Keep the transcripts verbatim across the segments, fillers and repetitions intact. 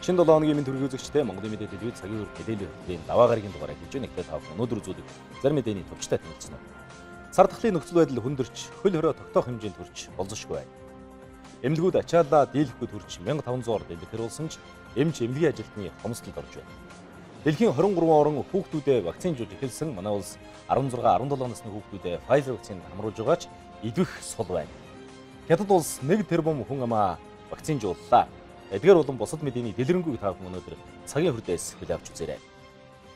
Шинэ долоо хоногийн мэд төргийн үзэгчтэй Монголын мэдээ телевиз цагийн үр мэдээллийн хөтөлбөрийн даваа гарагийн дугаарыг хийж нэгтэй тав өнөөдөр үзүүлэх зарим мэдээний төвчтэй танилцсан уу. Сар дахлын нөхцөл байдал хүндэрч хөл хорой тогтоох хэмжээнд хүрч болзошгүй байна. Эмнэлгүүд ачаалаа дийлэхгүй төрж мянга таван зугаар дэлгэхэр болсон ч эмч эмнэлгийн ажилтны хомсдолд орж байна. Дэлхийн хорин гурван орн хүүхдүүдэд вакцинжуулж эхэлсэн манай улс арван зургаан арван долоо насны хүүхдүүдэд Pfizer вакцины хамруулж байгаа ч идвэх сул байна. Хятад улс нэг тэрбум хүн амаа вакцинжууллаа. Эдгээр болон бусад мэдээний дэлгэрэнгүй та бүхэн өнөөдөр цагийн хүрдээс хүлээн авч үзээрэй.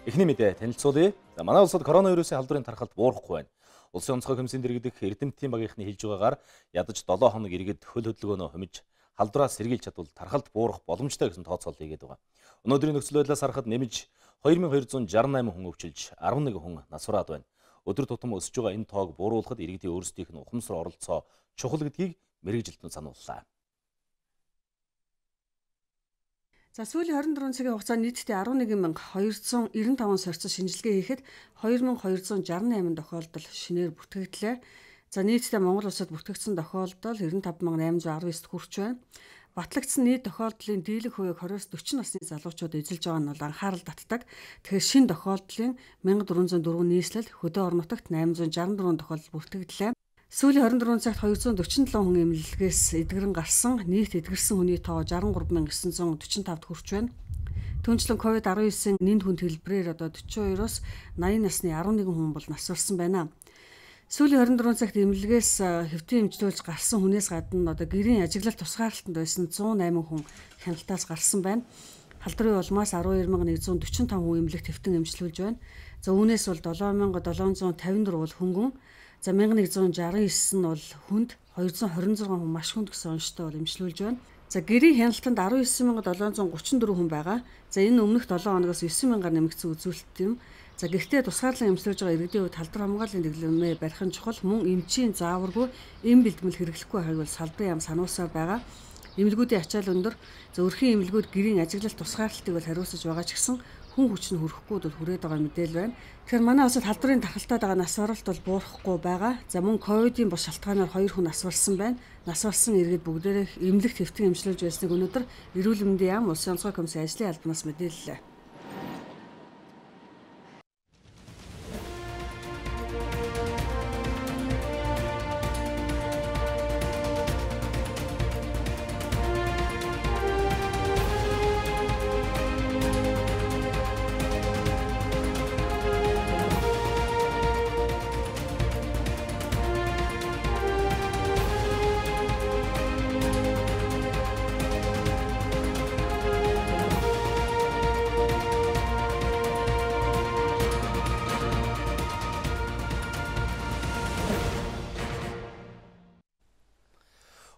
Эхний мэдээ танилцуулъя. За манай улсад коронавирусын халдварын тархалт буурахгүй байна. Улсын онцгой комиссийн дэргэдэх эрдэмтдийн багийнхны хэлж байгаагаар ядаж долоо хоног иргэд хөл хөдөлгөөнөө хумиж халдвараас сэргийлж чадвал тархалт буурах боломжтой гэсэн тооцоол хийгээд байгаа. Өнөөдрийн нөхцөл байдлаас харахад нэмж хоёр nghìn хоёр зуун шаргал найман хүн өвчилж арван нэг хүн насвараад байна. Өдөр тутам өсөж байгаа энэ тоог бууруулахад иргэдийн өөрсдийнх нь ухамсар оролцоо чухал гэдгийг мэргэжилтэн санууллаа. За сүүлийн хорин дөрвөн цагийн хугацаанд нийтдээ арван нэг мянга хоёр зуун девяносто таван сорьцол шинжилгээ хийхэд хоёр nghìn хоёр зуун шестьдесят восемь тохиолдол шинээр бүртгэгдлээ. За нийтдээ Монгол улсад бүртгэгдсэн тохиолдол девяносто пять nghìn восемьсот девяносто девять хүрч байна. Батлагдсан нийт тохиолдлын дийлэх хувийг двадцать40 насны залуучууд эзэлж байгаа нь бол анхаарал татдаг. Тэгэхээр шинэ тохиолдлын мянга дөрвөн зуун дөрвөн нийслэл хөдөө орон нутагт восемьсот шестьдесят четыре тохиолдол бүртгэгдлээ. Сүүлийн хорин дөрвөн цагт хоёр зуун дөрвөн седем хүн эмнэлгээс эдгэрэн гарсан нийт эдгэрсэн хүний тоо шестьдесят три nghìn девять зуун четырнадцать тавд хүрч байна. Түүнчлэн ковид десятtoгийн нэн хүнд хэлбэрээр одоо forty two-оос eighty насны арван нэг хүн бол насварсан байна. Сүүлийн хорин дөрвөн цагт эмнэлгээс хэвтэн эмчилүүлж гарсан хүнээс гадна одоо гэрийн ажиглалт тусгаарлалтанд байсан зуун осем хүн хяналтаас гарсан байна. Халдварын улмаас twelve thousand one hundred forty-five хүн эмнэлэгт хэвтэн эмчилүүлж байна. За үүнээс бол seven thousand seven hundred fifty-four бол хөнгөн. За eleven sixty-nine нь бол хүнд, two hundred twenty-six хүн маш хүнд гэсэн онцтой бол эмчилүүлж байна. За гэрийн хяналтанд nineteen thousand seven hundred thirty-four хүн байгаа. За энэ өмнөх seven хоногоос nine thousand нэмэгдсэн үзүүлэлт юм. За гэхдээ тусгаарлан эмчилж байгаа иргэдийн хувьд халдвар хамгааллын дэглэмээ барих нь чухал, мөн эмчийн зааваргүй эм бэлтгэл хэрэглэхгүй хайг бол салбарын яам сануулсаар байгаа. Эмнэлгүүдийн ачаал өндөр. За өрхийн эмнэлгүүд гэрийн ажиглалт тусгаарлалтыг бол хариуцаж байгаа ч гэсэн хүн хүч нь хүрэхгүй бол хүрээд байгаа мэдээлэл байна. Тэгэхээр манай улсад халдварын тархалтаад байгаа насваралт бол буурахгүй байгаа. За мөн ковидын бус шалтгаанаар хоёр хүн насварсан байна. Насварсан иргэд бүгдээрээ эмнэлэгт хэвтэн эмчилж байсныг өнөөдөр эрүүл мэндийн яам улсын онцгой комиссийн ажлын албанаас мэдээллээ.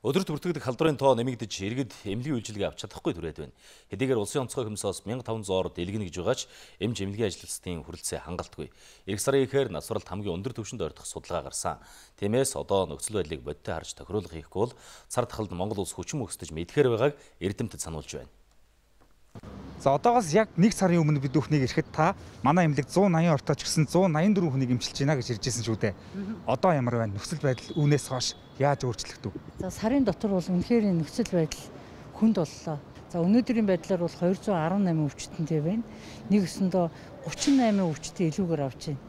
Өдөрт бүртгэгдэх халдварын тоо нэмэгдэж иргэд эмнэлгийн үйлчилгээ авч чадахгүй түрээд байна. Хэдийгээр улсын онцгой комиссоос мянга таван зуун дэлгэнэ гэж байгаач эмч эмнэлгийн ажилчдын хүрэлцээ хангалтгүй. Эх сарын ихээр насваралт хамгийн өндөр түвшинд ойртох судалгаа гарсан. Тиймээс одоо нөхцөл байдлыг бодиттой харж тохируулга хийхгүй бол сар дахалд Монгол улс хүчин мөхсдөж мэдхээр байгааг эрдэмтэд сануулж байна. За одоогоос яг нэг сарын өмнө бид бүхнийг ирэхэд та манай эмнэлэг one eighty ортооч гэсэн one eighty four хүнийг эмчилж байна гэж иржсэн шүү дээ. Одоо ямар байна? Нөхцөл байдал үүнээс хойш яаж өөрчлөгдөв? За сарын дотор бол үнэхээр нөхцөл байдал хүнд боллоо. За өнөөдрийн байдлаар бол two hundred eighty-eight өвчтөнтэй байна. Нэг өсөндөө thirty-eight өвчтөй илүүгээр авч байна.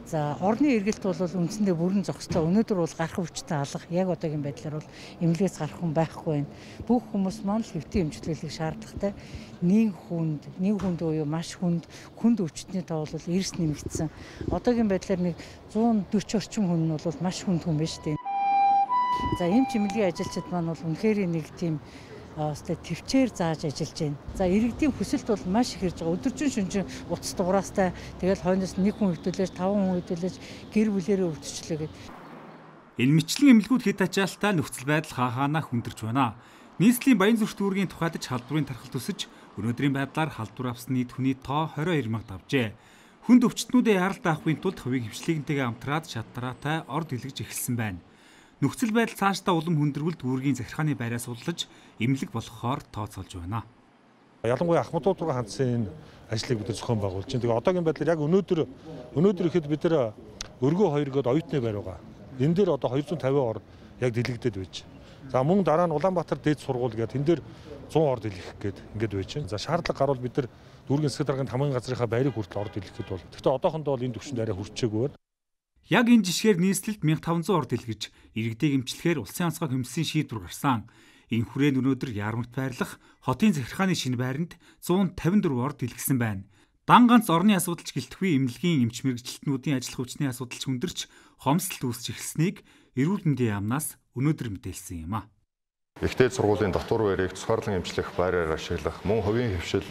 За орны эргэлт бол үндсэндээ бүрэн зогслоо. Өнөөдөр бол гарах өвчтөй алга. Яг одоогийн байдлаар бол эмнэлгээс гарах хүн байхгүй байна. Бүх хүмүүс маань л хэвтэн эмчилгээг шаардлагатай. Нэг хүнд, нэг хүнд буюу маш хүнд, хүнд өвчтний тоо бол эрс нэмэгдсэн. Одоогийн байдлаар нэг one forty орчим хүн нь бол маш хүнд хүн байна шүү дээ. За эмч эмнэлгийн ажилчид маань бол үнэхээр нэг тийм Өстэй төвчээр зааж ажиллаж байна. За иргэдийн хүсэлт бол маш их ирж байгаа. Өдөржин шөнөжин утас дугараастай тэгэл хойноос нэг хүн хөдөлж, таван хүн хөдөлж гэр бүлээрээ өвдчлээ гэдэг. Энэ мэтлэн эмнэлгүүд хэд ачаалтаа нөхцөл байдал хаахаанаа хүндэрч байна. Нийслэлийн баян зүрх дүүргийн тухайдч халдварын тархалт өсөж, өнөөдрийн байдлаар халдвар авсан нийт хүний тоо twenty-two мянга давжээ. Хүнд өвчтнүүдээ яралт авахын тулд хувийн хвшлигэнтэйгээ амтраад шатраатай орд илгэж эхэлсэн байна. Нөхцөл байдал цаашдаа улам хүндрвэл дүүргийн захиргааны байраас удалж эмнэлэг болгохоор тооцоолж байна. Ялангуяа Ахмадууд руу хандсан энэ ажлыг бид зохион байгуулж байна. Тэгээ одоогийн байдлаар яг өнөөдөр өнөөдөр ихэд бид нэр өргөө хоёр гээд оюутны байр байгаа. Энэ дээр одоо two hundred fifty ор яг дэлгэгдээд байж. За мөн дараа нь Улаанбаатар дээд сургууль гэдэг энэ дээр зуун орд илгэх гээд ингээд байж байна. За шаардлага гарвал бид нар дүүргийн засаг даргын тамгын газрынхаа байрыг хүртэл орд илгэхэд бол. Гэхдээ одоохондоо бол энэ түвшинд арай хүрчээгүй байна. Яг энэ жишгээр нийслэлд мянга таван зуун орд илгэж иргэдэг эмчлэхээр улсын онцгой хэмжээний шийдвэр гарсан. Энэ хүрээнд өнөөдөр Яармагт байрлах хотын захиргааны шинэ байранд зуун тавин дөрвөн орд илгэсэн байна. Дан ганц орны асуудалч гэлтгүй эмнэлгийн эмч мэргэжилтнүүдийн ажил хүчний асуудалч хүндэрч хомсдолт үүсч эхэлснийг эрүүл мэндийн яамнаас өнөөдөр мэдээлсэн юм а. Ихтэй сургуулийн дотор байрыг цусгаарлан эмчлэх байраар ашиглах, мөн хувийн хөвшил,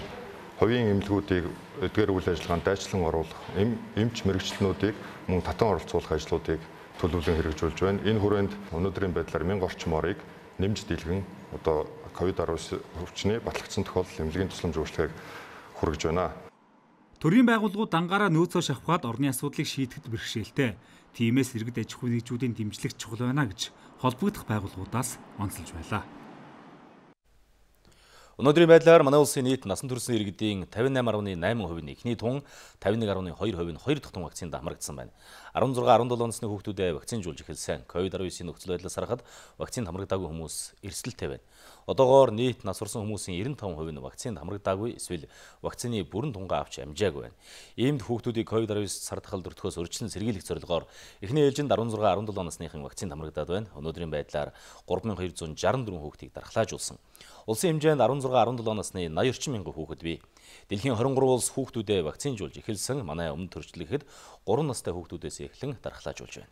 хувийн эмнэлгүүдийг эдгээр үйл ажиллагаанд дайчлан оруулах, эмч мэргэжилтнүүдийг мөн татан оролцуулах ажлуудыг төлөвлөн хэрэгжүүлж байна. Энэ хүрээнд өнөөдрийн байдлаар мянга орчим орыг нэмж дийлгэн одоо ковид арван өвчний батлагдсан тохиолдол эмнэлгийн тусламж үйлчлэгийг хүргэж байна. Төрийн байгууллагууд дангаараа нөөцөө шавхаад орны асуудлыг шийдэхэд бэрхшээлтэй. Тиймээс иргэд аж ахуйн нэгжүүдийн дэмжлэг чухал байна гэж холбогдох байгууллагуудаас онцолж байлаа. Өнөөдрийн байдлаар манай улсын нийт насан туршийн иргэдийн тавин найман гаруй найман хувийн эхний тун, тавин нэг гаруй хоёр хувийн хоёр дахь тун вакцинд хамрагдсан байна. арван зургаан арван долоо насны хүүхдүүдэд вакцинжуулж эхэлсэн. ковид арван девятын нөхцөл байдлаас харахад вакцинд хамрагдаагүй хүмүүс эрсдэлтэй байна. Одоогоор нийт нас орсон хүмүүсийн девяносто пять хувь нь вакцинд хамрагдаагүй эсвэл вакцины бүрэн тунгаа авч амжаагүй байна. Иймд хүүхдүүдийг ковид арван девять сар дахал дөртөхөөс урьдчилан сэргийлэх зорилгоор эхний ээлжинд арван зургаан арван долоо насныхын вакцинд хамрагдаад байна. Өнөөдрийн байдлаар гурван мянган хоёр зуун шестьдесят четыре хүүхдийг дархлаажуулсан. Улсын хэмжээнд арван зургаан арван долоо насны наяз орчим мянган хүүхэд бий. Дэлхийн двадцать три улс хүүхдүүдэд вакцинжуулж эхэлсэн. Манай өмнө төрчлөгэхэд гурван настай хүүхдүүдээс эхлэн дархлаажуулж байна.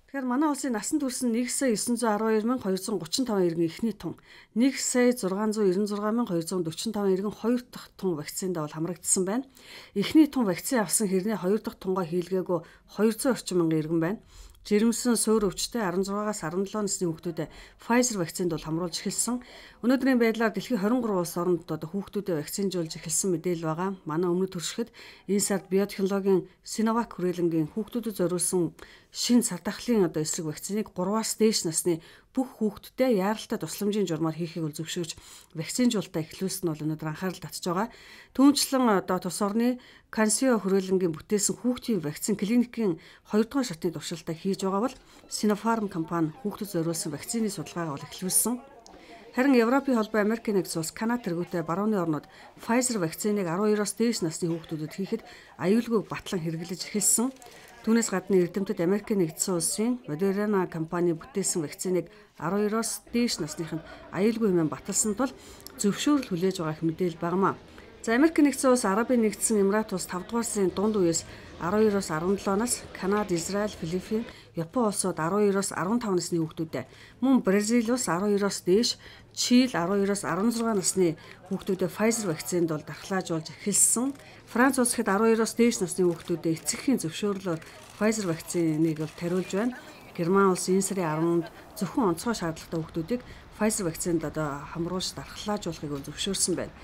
Тэгэхээр манай улсын насан турш нэг сая девять сто twelve мянган двести тридцать пять иргэн эхний тун, нэг сая шix hundred ninety-six мянган двести forty five иргэн хоёр дахь тун вакцинд бол хамрагдсан байна. Эхний тун вакцин авсан хэрнээ хоёр дахь тунгаа хийлгээгүй two hundred орчим мянган иргэн байна. Жирэмсэн суур өвчтэй sixteen-аас seventeen насны хүүхдүүдэд Pfizer вакцинд бол хамруулж эхэлсэн. Өнөөдрийн байдлаар дэлхийн twenty-three улс оронд одоо хүүхдүүдэд вакцинжуулж эхэлсэн мэдээлэл байгаа. Манай өмнөд туршихад энэ сард биотехнологийн Sinovac хүрээлэнгийн хүүхдүүдэд зориулсан шинэ сар дахлын одоо эсрэг вакциныг three-аас дээш насны бүх хүүхдүүдэд яаралтай тусламжийн журмаар хийхийг бол зөвшөөрч вакцинжуулалтаа эхлүүлсэн нь бол өнөөдөр анхаарал татж байгаа. Түүнчлэн одоо тус орны Cansio хүрээлэнгийн бүтээсэн хүүхдийн вакцин клиникийн two дугаар шатны туршилтаа хийж байгаа бол Sinopharm компани хүүхдэд зориулсан вакцины судалгаагаа бол эхлүүлсэн. Харин Европын холбоо, Америкийн нэгдсэн улс, Канада тэргүүтэй барууны орнууд Pfizer вакциныг twelve-оос дээш насны хүүхдүүдэд хийхэд аюулгүй батлан хэрэглэж эхэлсэн. Түүнээс гадна эрдэмтэд Америкийн нэгдсэн улсын Moderna компани бүтээсэн вакциныг twelve-оос дээш насныханд аюулгүй хэмээн баталсан тул зөвшөөрөл хүлээж байгаах мэдээлэл багмаа. За Америкийн нэгдсэн улс, Арабын нэгдсэн Эмират улс five дугаар сарын дунд үеэс twelve-оос seventeen нас, Канада, Израиль, Филиппин, Япон улсууд twelve-оос fifteen насны хүүхдүүдэд, мөн Бразил улс twelve-оос дээш, Чили twelve-оос sixteen насны хүүхдүүдэд Pfizer вакцинд бол дархлаажуулж эхэлсэн. Франц улс хэд twelve-оос дээш насны хүүхдүүдэд эцэгхийн зөвшөөрлөөр Pfizer вакциныг бол тариулж байна. Герман улс энэ сарын ten-нд зөвхөн онцгой шаардлагатай хүүхдүүдийг Pfizer вакцинд одоо хамруулж дархлаажуулахыг бол зөвшөөрсөн байна.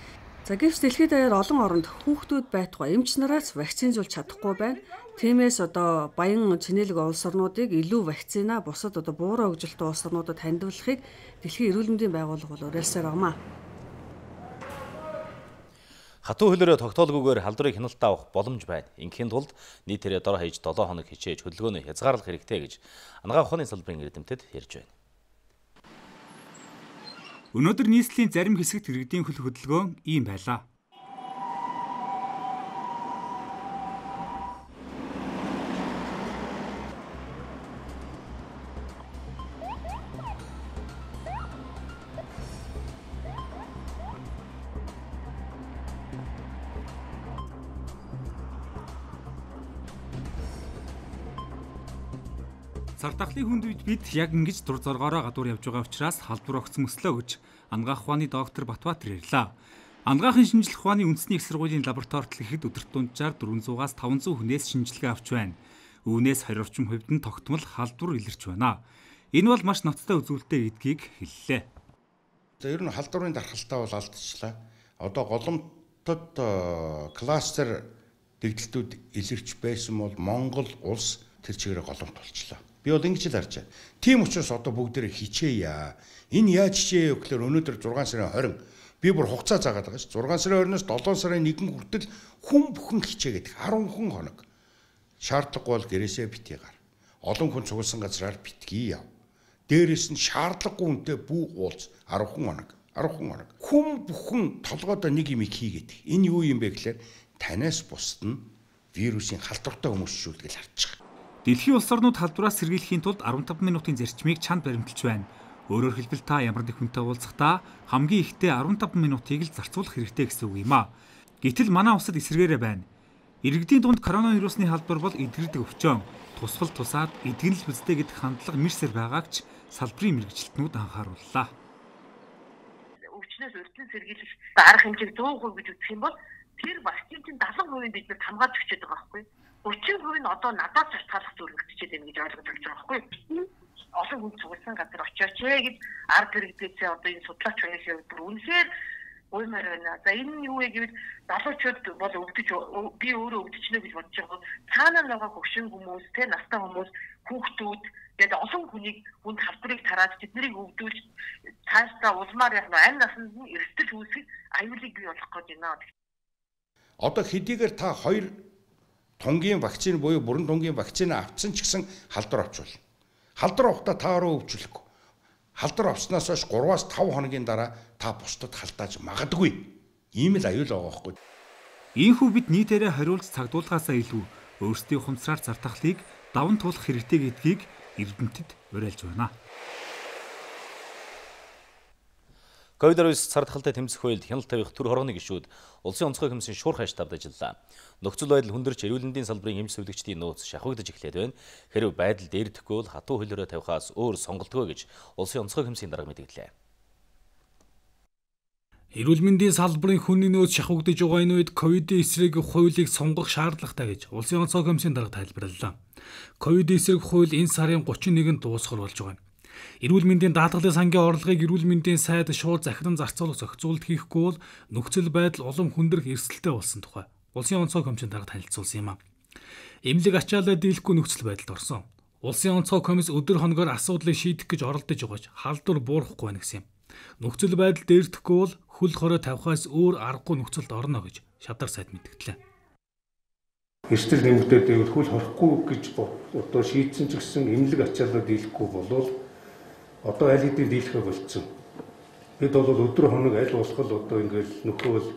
За гэвч дэлхийд даяар олон оронд хүүхдүүд байтугай эмч нараас вакцинжуулж чадахгүй байна. Тиймээс одоо баян чинэлэг улс орнуудыг илүү вакцина бусад одоо буураа хөгжилтэй улс орнуудад хандивлахыг Дэлхийн эрүүл мэндийн байгууллага бол уриалсаар байна. Хатуу хөлөөрөө тогтоолгүйгээр халдварыг хяналтаа авах боломж байна. Ингийн тулд нийтээрээ дор хаяж seven хоног хичээж хөдөлгөөний хязгаарлах хэрэгтэй гэж анагаах ухааны салбарын эрдэмтэд ярьж байна. Өнөөдөр нийслэлийн зарим хэсэгт иргэдийн хөл хөдөлгөөн ийм байлаа. Сар дахлын хүнд үед бид яг ингэж дур зоргоороо гадуур явж байгаа учраас халдвар огц мөслөө гэж анагаах ухааны доктор Батбаатар ярьлаа. Анагаахын шинжилх ухааны үндэсний их сургуулийн лабораторид ихэд өдөрт дунджаар four hundred-аас five hundred хүнээс шинжилгээ авч байна. Үүнээс twenty орчим хувьд нь тогтмол халдвар илэрч байна. Энэ бол маш ноцтой үзүүлэлттэй гэдгийг хэллээ. За ер нь халдварын дархалтаа бол алдчихлаа. Одоо голомтод кластер дэгдэлтүүд илэрч байсан бол Монгол улс тэр чигээрээ голомт болчихлоо. Би бол ингэж л харж байна. Тийм учраас одоо бүгдээрээ хичээе. Энэ яаж хичээе гэхээр өнөөдөр six сарын twenty би бүр хугацаа заагаад байгаа ш. six сарын twenty-оос seven сарын one хүртэл хүн бүхэн хичээгээд ten хоног. Шаардлагагүй бол гэрээсээ битгий гар. Олон хүн цугласан газраар битгий яв. Дээрээс нь шаардлагагүй үнэтэй бүх уулз арав хоног. арав хоног. Хүн бүхэн толгойдоо нэг юм хийгээд. Энэ юу юм бэ гэхээр танаас бусд нь вирусын халдвартай хүмүүс шүү гэж харж байгаа. Дэлхийн улс орнууд халдвараас сэргийлэхийн тулд арван таван минутын зарчмыг чанд баримталж байна. Өөрөөр хэлбэл та ямар нэг хүнтэй уулзахдаа хамгийн ихдээ арван таван минутыг л зарцуулах хэрэгтэй гэсэн үг юм а. Гэтэл манай улсад эсэргээрээ байна. Иргэдийн дунд коронавирусны халдвар бол эдгэрдэг өвчөн. Тусгал тусаад эдгэнэл бүзтэй гэдэг хандлага мэрсэр байгааг ч салбарын мэргэжилтнүүд анхаарууллаа. Өвчнөөс өртөн сэргийлэх арга хэмжээг сто процент гэж үзэх юм бол тэр вакцин чинь дагалан хувийн биднээс хамгаалж өгчээд байгаа байхгүй. өчигдөрт хувийн одоо надад шалтгааллах зөвлөгдчихэд байна гэж ойлгож болж байгаа байхгүй. Олон хүн цугласан газар очиоч ээ гэж арга хэрэгцээ одоо энэ судлаач байхыг бүр үнэхээр уймаар байна. За энэ нь юу вэ гэвэл залуучууд бол өвдөж би өөрөө өвдөжнө гэж бодож байгаа. Цаанаа байгаа хөгшин хүмүүс, тэ настай хүмүүс, хүүхдүүд тэгээд олон хүнийг хүнд халдварыг тараад тэднийг өвдүүлж цаашдаа улмаар яг амь насанд нь эрсдэл үүсгэх аюулыг бий болгох гэж байна. Одоо хэдийгээр та хоёр тунгийн вакцины буюу бүрэн тунгийн вакцины авсан ч гэсэн халдвар авч болно. Халдвар авахдаа та өөрөө өвчлөхгүй. Халдвар авснаас хойш гураваас таван хоногийн дараа та бусдад халдааж магадгүй. Ийм л аюул байгаа байхгүй. Ийхүү бид нийтээрээ хариулж цагдуулгаасаа илүү өөрсдийн ухамсараар зартахлыг даван туулах хэрэгтэй гэдгийг эрдэмтэд уриалж байна. ковид дөрвөн цардахалтай тэмцэх үед хяналт тавих төр хорооны гишүүд улсын онцгой комиссийн шуурхай штабд ажиллалаа. Нөхцөл байдал хүндэрч эрүүл мэндийн салбарын эмч зөвлөгчдийн нууц шахагдж эхлээд байна. Хэрв байдал дээрдэхгүй бол хатуу хөлөөрөө тавихаас өөр сонголтгүй гэж улсын онцгой комиссийн дарга мэдгдлээ. Эрүүл мэндийн салбарын хүний нөөц шахагдж байгаа энэ үед ковидын эсрэг хуулийг сонгох шаардлагатай гэж улсын онцгой комиссийн дарга тайлбарлалаа. Ковидын эсрэг хууль энэ сарын гучин нэгэнд дуусгал болж байгаа. Эрүүл мэндийн даатгалын сангийн орлогыг эрүүл мэндийн сайд шууд захиран зарцуулах зохицуулалт хийхгүй бол нөхцөл байдал улам хүндрэх эрсдэлтэй болсон тухай улсын онцгой комиссийн дарга танилцуулсан юм а. Эмнэлэг ачаалал дийлэхгүй нөхцөл байдалд орсон. Улсын онцгой комисс өдөр хоногоор асуудлыг шийдэх гэж оролдож байгаа ч халдвар буурахгүй байна гэсэн юм. Нөхцөл байдал дээрдэхгүй бол хөл хорой тавихаас өөр аргагүй нөхцөлд орно гэж шадар сайд мэдгдлээ. Эрсдэл нэмэгдээд байвал хөл хорихгүй гэж одоо шийдсэн ч гэсэн эмнэлэг ачаалал дийлэхгүй болвол одоо аль хэдийн дийлэхэ болцсон. Бид бол өдөр хоног аль болох одоо ингээл нөхөөл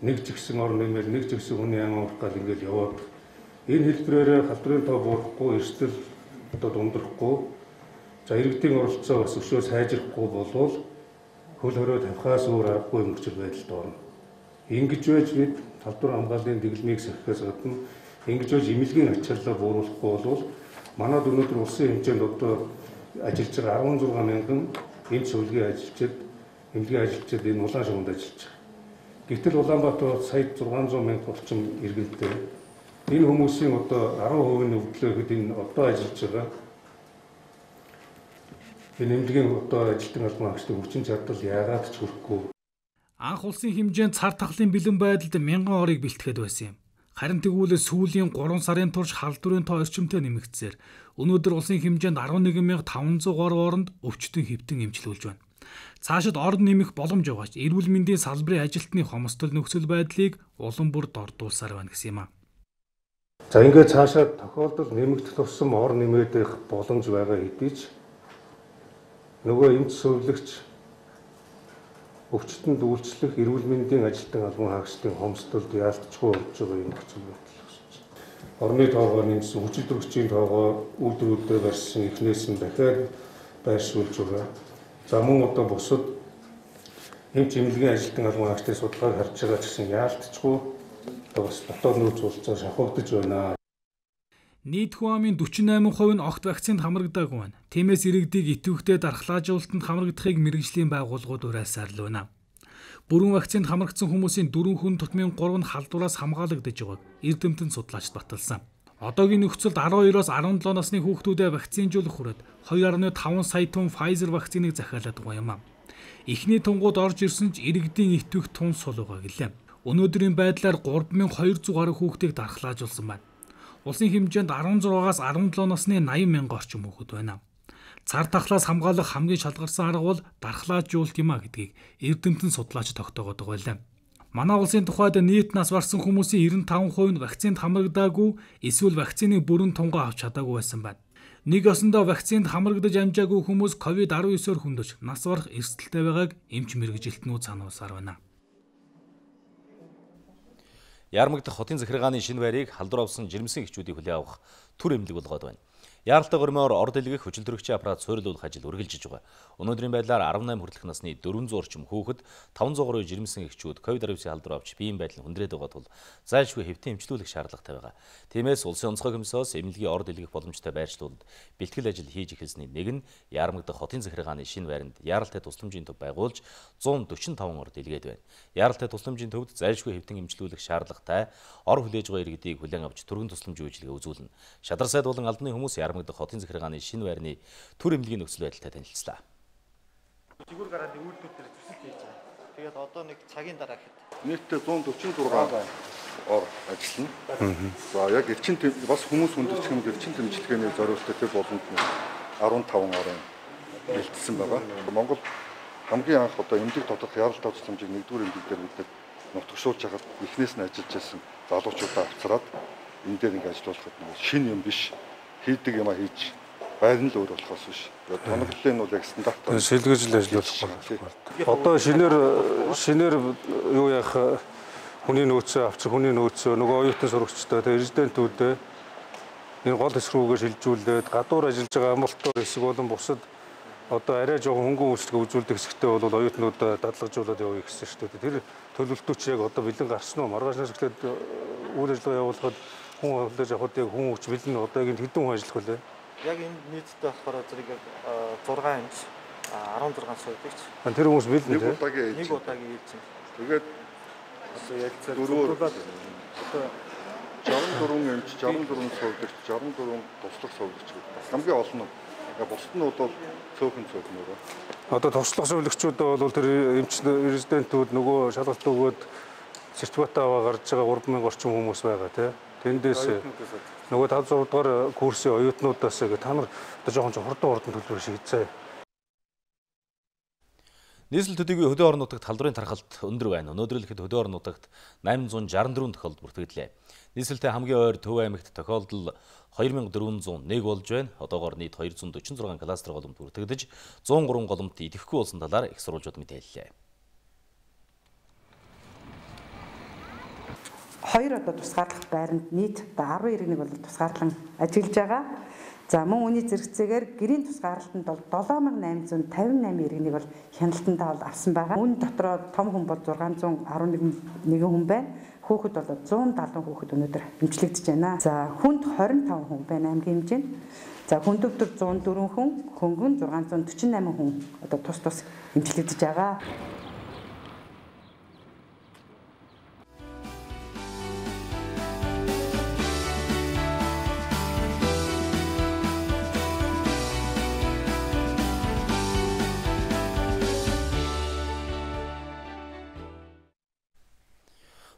нэг жигсэн орн нэмэр нэг жигсэн хүний ам уурах гал ингээл яваад энэ хэлбэрээр халдварын тоо буурахгүй эрсдэл одоо дундрахгүй за иргэдийн оролцоо бас өшөө сайжрахгүй болвол хөл хорой тавихаас өөр аргагүй нөхцөл байдалд орно. Ингэж байж бид халдвар хамгааллын дэглэмийг сахихаас гадна ингэж байж эмнэлгийн ачааллаа бууруулахгүй болвол манад өнөөдөр улсын хэмжээнд одоо ажиллаж байгаа арван зургаан мянган эмч зөвлөгийн ажилчид, эмнэлгийн ажилчид энэ улаан шугамд ажиллаж байгаа. Гэвтэл Улаанбаатар сая зургаан зуун мянга орчим иргэнтэй. Энэ хүмүүсийн одоо арван хувийн өвдлөөд энэ одоо ажиллаж байгаа энэ эмнэлгийн одоо ажилтны албан хаагчдын хүчин чадал яагаад ч хүрэхгүй. Анх улсын хэмжээнд цар тахлын бэлэн байдалд мянган орыг бэлтгэхэд байсан юм. Харин тэгвэл сүүлийн гурван сарын турш халдварын тоо орчимтой нэмэгдсээр өнөөдөр улсын хэмжээнд арван нэгэн мянга таван зуун гаруй оронд өвчтөн хэвтэн эмчилүүлж байна. Цаашид орд нэмэх боломж байгаач эрүүл мэндийн салбарын ажилтны хомсдол нөхцөл байдлыг улам бүр дордуулсаар байна гэсэн юм а. За ингээд цаашаа тохиолдол нэмэгдэх тусам ор нэмээд их боломж байгаа хэдий ч нөгөө эмч зөвлөгч өвчтөнд үйлчлэх эрүүл мэндийн ажилтан албан хаагчдын хомсдолд яалтчгүй болж байгаа юм нөхцөл байдал үүсэж байна. Орны тоогоо нэмсэн, хүчил төрөгчийн тоогоо үйлдвэрүүдэд барьсан эхнээс нь дахиад байршуулж байгаа. За мөн одоо бусад эмч эмнэлгийн ажилтан албан хаагчдын судалгааг харж байгаа ч гэсэн яалтчгүй одоо бас дотоод нөөц уулзаа шахагдж байна. Нийт хүн амын дөрвөн восемь хувь нь огт вакцинд хамрагдаагүй байна. Тиймээс иргэдийг итвэхтэй дархлаажуулалтанд хамрагдахыг мэргэжлийн байгууллагууд уриалсаар л байна. Бүрэн вакцинд хамрагдсан хүмүүсийн дөрвөн хүн тутмын гурав нь халдвараас хамгаалагдаж байгааг эрдэмтэн судлаач баталсан. Одоогийн нөхцөлд арван хоёроос арван долоо насны хүүхдүүдэд вакцинжуулах хүрээд two point five сая тонн Pfizer вакциныг захиалаад байгаа юм а. Эхний тунгууд орж ирсэн ч иргэдийн итвэх тун сул байгаа гэлээ. Өнөөдрийн байдлаар гурван мянган хоёр зуун гаруй хүүхдийг дархлаажуулсан байна. Улсын хэмжээнд арван зургаас арван долоо насны eighty мянган орчим хүүхэд байна. Цар тахлаас хамгаалах хамгийн шалгарсан арга бол дархлаажуулалт юм а гэдгийг эрдэмтэн судлаач тогтоогод байгаа юм. Манай улсын тухайд нийт нас барсан хүмүүсийн ninety five хувь нь вакцинд хамрагдаагүй эсвэл вакцины бүрэн тунгаа авч чадаагүй байсан байна. Нэг осондоо вакцинд хамрагдаж амжаагүй хүмүүс ковид десагаан-оор хүндэж нас барах эрсдэлтэй байгааг эмч мэргэжилтнүүд сануулсаар байна. Яармагдах хотын захиргааны шинэ байрыг халдвар авсан жирэмсэн эхчүүдийг хүлээн авах түр эмнэлэг болгоод байна. Яаралтай гормоор ор дэлгэх хүчил төрөгчийн аппарат суйрлуулах ажил үргэлжилж байгаа. Өнөөдрийн байдлаар арван найман хүртэлх насны дөрвөн зуун орчим хүүхэд, таван зуун гаруй жирэмсэн эхчүүд ковид десагаан халдвар авч биеийн байдал нь хүндрээд байгаа тул зайлшгүй хэвтэн эмчлүүлэх шаардлагатай байгаа. Тиймээс улсын онцгой комиссоос эмнэлгийн ор дэлгэх боломжтой байршлуулалд бэлтгэл ажил хийж эхэлсний нэг нь Яармагдах хотын захиргааны шинэ байранд яаралтай тусламжийн төв байгуулж зуун дөрвөн таван ор дэлгээд байна. Яаралтай тусламжийн төвд зайлшгүй хэвтэн эмчлүүлэх шаардлагатай ор хүлээж байгаа иргэдийг хүлээн авч түргэн тусламжийн үйлчилгээ үзүүлнэ. Шадар сайд болон албаны хүмүүс Яармагдах хотын захиргааны шинэ байрны түр эмнэлгийн нөхцөл байдалтай танилцлаа. Жигүүр гарааны үйлдвэр дээр төсөл хийж байгаа. Тэгээд одоо нэг цагийн дараа хэд нийтдээ зуун дөрвөн зургаан ор ажиллана. За яг элчин бас хүмүүс хүндэрч юм элчин тэмцэлгээний зориулалтад тэр боломж нь арван таван орын бэлтсэн байгаа. Монгол хамгийн анх одоо эмнэлэг тодорх яралтай тусламжийг нэгдүгээр эмнэлэг дээр бид нутагшуулж хахад эхнээс нь ажиллаж байсан залуучуудаа авцраад энэ дээр ингэ ажиллуулахад шинэ юм биш хийдэг юм а хийж байрны л өөр болохоос биш. Тоноглолын нь бол яг стандартаар шилгэж л ажиллах байна. Одоо шинээр шинээр юу яах хүний нөөцөө авчих хүний нөөцөө нөгөө оюутан сурагчтай тэгээ резидентүүдээ энэ гол эсрүүгээ шилжүүлээд гадуур ажиллаж байгаа амралтууд хэсэг болон бусад одоо арай жоохон хөнгөн үйлчлэг үзүүлдэг хэсэгтээ бол оюутнуудаа дадлагжуулаад явъя гэсэн шүү дээ. Тэр төлөвлөлтүүд чи яг одоо бэлэн гарсан уу? Маргааш нас эхлээд үйл ажиллагаа явуулахад хүн хөлөөж авахд яг хүн хүч бэлэн одоо яг хэдэн хүн ажиллах вэ? Яг энэ нийтдээ болохоор зэрэг зургаан эмч арван зургаан суудаг. Тэр хүмүүс бэлэн нэг удаагийн нэг удаагийн ээж. Тэгээд одоо ялцаар дөрвөөр жаван дөрвөн эмч, жаван дөрвөн суудаг, жаван дөрвөн туслах суудаг гэдэг. Хамгийн олон нь яг бусднууд бол цөөхөн цөөхөн өөрөө. Одоо туслах зөвлөгчүүд бол тэр эмч резидентүүд нөгөө шалгалт өгөөд сертификат аваа гарч байгаа гурван мянган орчим хүмүүс байгаа тийм. Тэндээс нөгөө тав зураг дугаар курсын оюутнуудаас та нар одоо жоохон ч хурдан хурдан төлбөр шийдсэн. Нийслэл төдийгүй хөдөө орон нутагт халдварын тархалт өндөр байна. Өнөөдөр л хэд хөдөө орон нутагт восемь шестьдесят четыре тохиолдол бүртгэлээ. Нийслэлтэй хамгийн ойр Төв аймагт тохиолдол two thousand four hundred one болж байна. Одоогоор нийт two hundred forty-six кластер голомт бүртгэгдэж one oh three голомт идэвхгүй болсон талаар их сурвалжууд мэдээллээ. Хоёр одоо тусгаарлах байранд нийт одоо twelve иргэнийг бол тусгаарлан ажиллаж байгаа. За мөн үүний зэрэгцээгээр гэрийн тусгаарлалтанд бол seven thousand eight hundred fifty-nine иргэнийг бол хяналтандаа бол авсан байгаа. Үүн дотроо том хүн бол six hundred eleven хүн байна. Хүүхэд бол one hundred seventy хүүхэд өнөөдөр эмчлэгдэж байна. За хүнд twenty-five хүн байна аймгийн хэмжээнд. За хүнд өвдөр one oh four хүн, хөнгөн six hundred forty-eight хүн одоо тус тус эмчлэгдэж байгаа.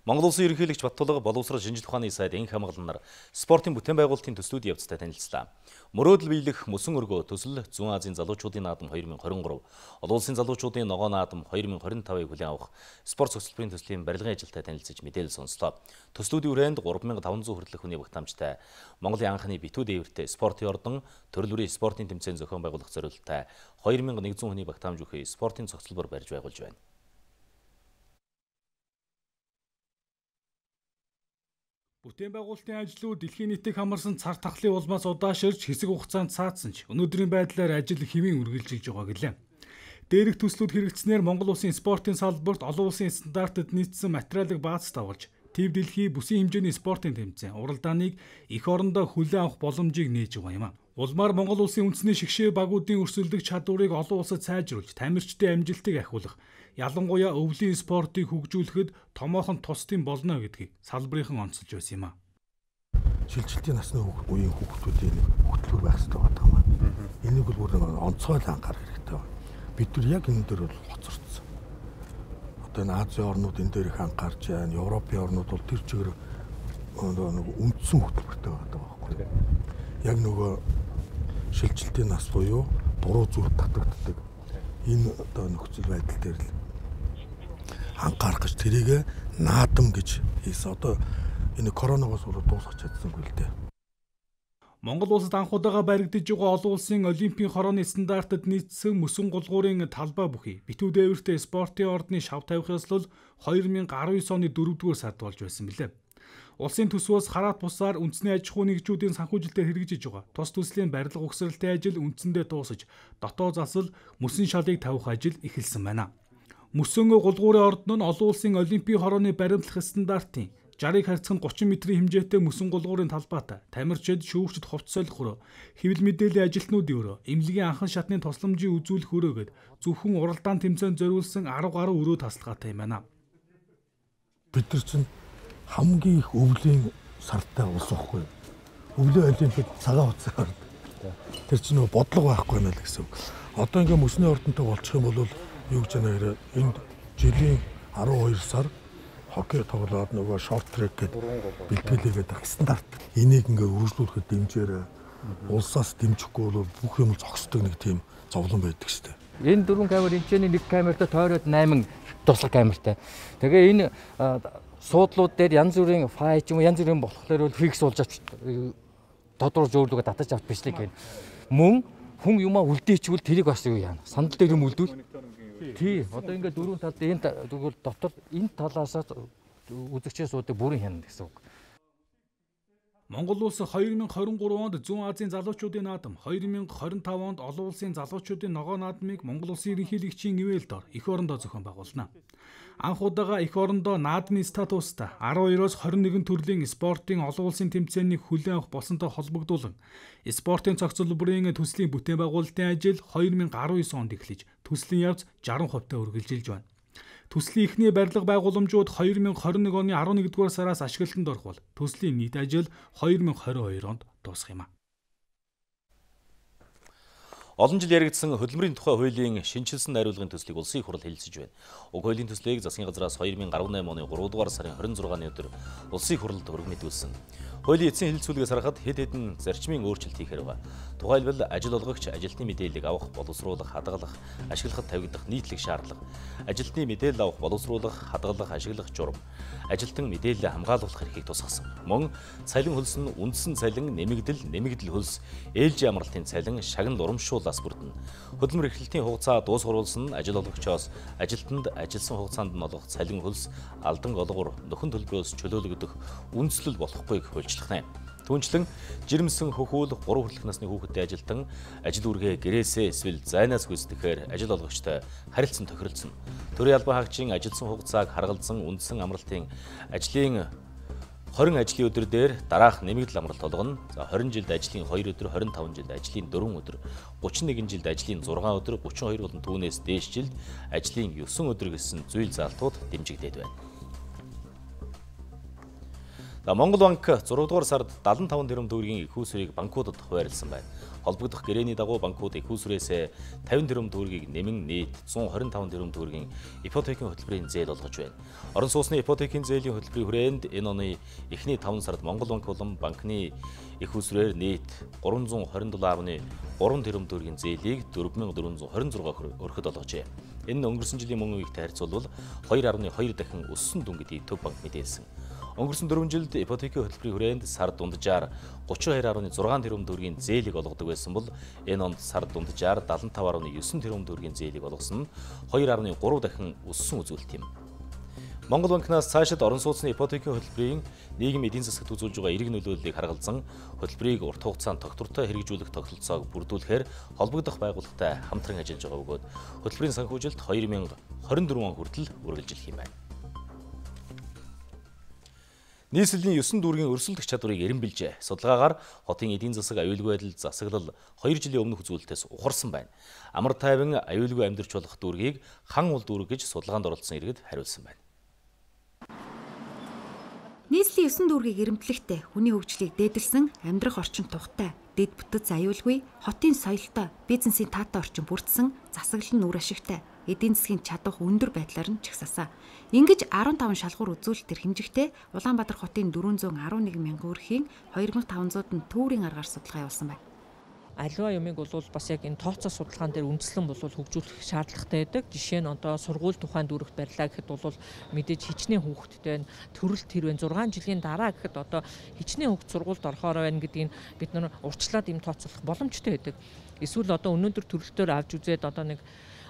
Монгол Улсын ерөнхийлөгч Баттулга боловсрол шинжилгээ ухааны сайд энх хамгаалал нар спортын бүтээн байгуулалтын төслүүд явцтай танилцлаа. Мөрөөдөл биелэх мөсөн өргөө төсөл Зүүн Азийн залуучуудын наадам twenty twenty-three, олон улсын залуучуудын ногоо наадам twenty twenty-five-ыг хүлээн авах спорт цогцлбарын төслийн барилгын ажилтай танилцж мэдээлэл сонслоо. Төслүүдийн хүрээнд three thousand five hundred хүртэлх хүний багтаамжтай Монголын анхны битүү дээвэртэй спортын ордон, төрөл бүрийн спортын тэмцээн зохион байгуулах зорилттой two thousand one hundred хүний багтаамж өгөх спортын цогцлбор барьж байгуулж байна. Бүтээн байгуулалтын ажлууд дэлхийн нийтийг хамарсан цар тахлын улмаас удааширч хэсэг хугацаанд цаацсан ч өнөөдрийн байдлаар ажил хэвийн үргэлжилж байгаа гэлээ. Дээрх төслүүд хэрэгжснээр Монгол улсын спортын салбарт олон улсын стандартад нийцсэн материалыг бааз тавуулж, Тэв дэлхийн бүсийн хэмжээний спортын тэмцээн уралдааныг эх орондоо хүлээн авах боломжийг нээж байгаа юм а. Улмаар Монгол улсын үндэсний шигшээ багуудын өрсөлдөх чадварыг олон улсад сайжруулж, тамирчдын амжилтыг ахиулах, ялангуяа өвлийн спортыг хөгжүүлэхэд томоохон тусдын болно гэдгийг салбарынхан онцолж байсан юм а. Шилжилтийн насны үеийн хүүхдүүдийн хөтөлбөр байх хэрэгтэй байдаг юм а. Энийг бол бүр онцгой анхаарах хэрэгтэй байна. Бид нар яг энэ дээр бол хоцорсон. Одоо энэ Азийн орнууд энэ дээр их анхаарч байна. Европын орнууд бол тэр чигээр нэг үндсэн хөтөлбөртэй байдаг байхгүй. Яг нөгөө шилжилтийн нас буюу буруу зүйл татагддаг. Энэ одоо нөхцөл байдал дээр л анхаарах гэж тэрийг наадам гэж хийсэн. Одоо энэ коронавигоос өөрөө дуусгах чадсангүй л дээ. Монгол улсад анх удаага баригдаж байгаа олон улсын олимпийн хорооны стандартад нийцсэн мөсөн гулгуурын талбай бүхий битүү дээвэртэй спортын ордны шав тавих ёслол две тысячи десять оны дөрөвдүгээр сард болж байсан билээ. Улсын төсвөөс хараат бусаар үндэсний аж ахуй нэгжүүдийн санхүүжилтээр хэрэгжиж байгаа. Тус төслийн барилга угсралтай ажил үндсэндээ дуусаж, дотоод засал мөсөн шалыг тавих ажил эхэлсэн байна. Мөсөн гулгуурын ордон нь олон улсын олимпийн хорооны баримтлах стандартын шестьдесят харьцан тридцать метрийн хэмжээтэй мөсөн гулгуурын талбайтай тамирчид, шүүгчд, хувцас солих өрөө, хэвлэл мэдээллийн ажилтнуудын өрөө, эмнэлгийн анхан шатны тусламжийн үзүүлэх өрөөгээд зөвхөн уралдаан тэмцээнд зориулсан арав гаруй өрөө тасалгаатай юм байна. Бид нар чинь хамгийн их өвлийн сартай улс واخгүй. Өвлийн олимпиад цагаан хуцаар. Тэр чинь нөгөө бодлого байхгүй байна л гэсэн үг. Одоо ингээ мөсний ордонтой болчих юм бол юу гэж байна энд жилийн twelve сар хоккей тоглоод нөгөө шорт трек гэдэг бэлтгэлээгээд байх стандарт. Энийг ингээ үргэлжлүүлэхэд дэмжээрэй. Улсаас дэмжихгүй бол бүх юм зогсдог нэг тийм зовлон байдаг шүү дээ. Энэ дөрвөн камер хэмжээний нэг камертай тойроод eight туслах камертай. Тэгээ энэ суудлууд дээр янз бүрийн фай ч юм уу янз бүрийн болохоор бол фикс болж авч тодорхой зөөлөгө татаж авч бичлэг гэнэ. Мөн хүн юмаа үлдээчвэл тэрийг бас юу яана. Сандал дээр юм үлдүүл. Тий, одоо ингээд дөрвөн талд энэ тэгвэл дотор энэ талаасаа үзэгчээс уудаг бүрэн хянана гэсэн үг. Монгол улс две тысячи двадцать three онд Зүүн Азийн залуучуудын наадам, две тысячи twenty-five онд олон улсын залуучуудын ногоо наадмыг Монгол улсын ерөнхийлөгчийн ивэлд ор эх орондоо зохион байгуулна. Анх удаага эх орондоо наадмын статустай twelve-оос twenty-one төрлийн спортын олон улсын тэмцээнийг хүлээн авах болсонтой холбогдуулан спортын цогцол бүрийн төслийн бүтээн байгуулалтын ажил two thousand nineteen онд эхлэж төслийн явц sixty percent-тай үргэлжилж байна. Төслийн эхний барилга байгууламжууд two thousand twenty-one оны eleven-р сараас ашиглалтанд орох бол төслийн нийт ажил two thousand twenty-two онд дуусах юм а. Олон жил яригдсан хөдөлмөрийн тухай хуулийн шинжилсэн найруулгын төслийг улсын их хурл хэлэлцэж байна. Уг хуулийн төслийг засгийн газраас two thousand eighteen оны three дугаар сарын twenty-six-ны өдөр улсын их хурлд өргөмөдүүлсэн. Хуулийн эцсийн хэлэлцүүлгээс харахад хэд хэдэн зарчмын өөрчлөлт хийхээр байгаа. Тухайлбал ажил олгогч ажилтны мэдээллийг авах, боловсруулах, хадгалах, ашиглахад тавигдах нийтлэг шаардлага, ажилтны мэдээлэл авах, боловсруулах, хадгалах, ашиглах журам, ажилтан мэдээлэл хамгаалуулах эрхийг тусгасан. Мөн цалин хөлс нь үндсэн цалин, нэмэгдэл, нэмэгдэл хөлс, ээлжийн амралтын цалин, шагнал урамшуулаас бүрдэнэ. Хөдөлмөр эрхлэлтийн хугацаа дуусгаруулсан нь ажил олгогчоос ажилтнанд ажилласан хугацаанд нь олгох цалин хөлс, алдан голгор, нөхөн төлбөрөөс чөлөөлөгдөх үндслэл болохгүйг хуульчлах. Түүнчлэн жирэмсэн хөхүүл three хүртэлх насны хүүхэдтэй ажилтан ажил үргээ гэрээсээ эсвэл зайнаас гүйцэтгэхээр ажил олгогчтой харилцан тохиролцсон. Төрийн албан хаагчийн ажилсан хугацааг харгалзан үндсэн амралтын ажлын twenty ажлын өдөр дээр дараах нэмэгдэл амралт олгоно. За twenty жилд ажлын two өдөр, twenty-five жилд ажлын four өдөр, thirty-one жилд ажлын six өдөр, thirty-two болон түүнээс дээш жилд ажлын nine өдөр гэсэн зүйл заалтууд дэмжигдээд байна. Монгол банк six дугаар сард seventy-five тэрбум төгрөгийн их усрыг банкудад хуваарлсан байна. Холбогдох гэрээний дагуу банкуд их усрээс fifty тэрбум төгрөгийг нэмэн нийт one hundred twenty-five тэрбум төгрөгийн ипотекийн хөтөлбөрийн зээл олгож байна. Орон сууцны ипотекийн зээлийн хөтөлбөрийн хүрээнд энэ оны эхний five сард Монгол банк болон банкны их усрээр нийт three hundred twenty-seven point three тэрбум төгрөгийн зээлийг four thousand four hundred twenty-six өргөхөд олгожээ. Энэ нь өнгөрсөн жилийн мөн үеигтэй харьцуулбал two point two дахин өссөн дүн гэдгийг Төв банк мэдээлсэн. Өнгөрсөн four жилд ипотекийн хөтөлбөрийн хүрээнд сар дунджаар thirty-two point six тэрбум төгрөгийн зээлийг олгодог байсан бол энэ онд сар дунджаар seventy-five point nine тэрбум төгрөгийн зээлийг олгосон нь two point three дахин өссөн үзүүлэлт юм. Монгол банкнаас цаашид орон сууцны ипотекийн хөтөлбөрийн нийгмийн эдийн засагт үзүүлж байгаа эерэг нөлөөллийг харгалзан хөтөлбөрийг урт хугацаанд тогтвортой хэрэгжүүлэх тогтолцоог бүрдүүлэхээр холбогдох байгууллагатай хамтран ажиллаж байгаа бөгөөд хөтөлбөрийн санхүүжилт two thousand twenty-four он хүртэл үргэлжилэх юм байна. Нийслэлийн nine дүүргийн өрсөлдөх чадварыг эренбилжээ. Судалгаагаар хотын эдийн засаг аюулгүй байдал засаглал two жилийн өмнөх үзүүлэлтээс ухарсан байна. Амар тайван аюулгүй амьдарч болох дүүргийг хан ул дүүрэг гэж судалгаанд оролцсон иргэд хариулсан байна. Нийслэлийн nine дүүргийг эренблэхтэй хүний хөгжлийг дээдэлсэн амьдрах орчин тухтай, дэд бүтэц аюулгүй, хотын соёлтой, бизнесийн таатай орчин бүрдсэн, засаглал нь үр ашигтай, эдийн засгийн чадвах өндөр байдлаар нь чагсаасан. Ингэж fifteen шалгуур үзүүлэлтээр хэмжигтэй Улаанбаатар хотын four hundred eleven мянган өрхийн two thousand five hundred нь төврийн аргаар судалгаа явуулсан байна. аливаа юмыг бол бас яг энэ тооцоо судалгаан дээр үндэслэн бол хөгжүүлэх шаардлагатай байдаг. Жишээ нь одоо сургууль тухайн дүүрэгт барьлаа гэхэд бол мэдээж хичнээн хүүхэдтэй төрөлт хэрвээ зургаан жилийн дараа гэхэд одоо хичнээн хүүхд сургуульд орохоор байна гэдгийг бид нар урьдчилаад юм тооцоолох боломжтой байдаг. Эсвэл одоо өнөөдөр төрөлтөөр авч үзээд одоо нэг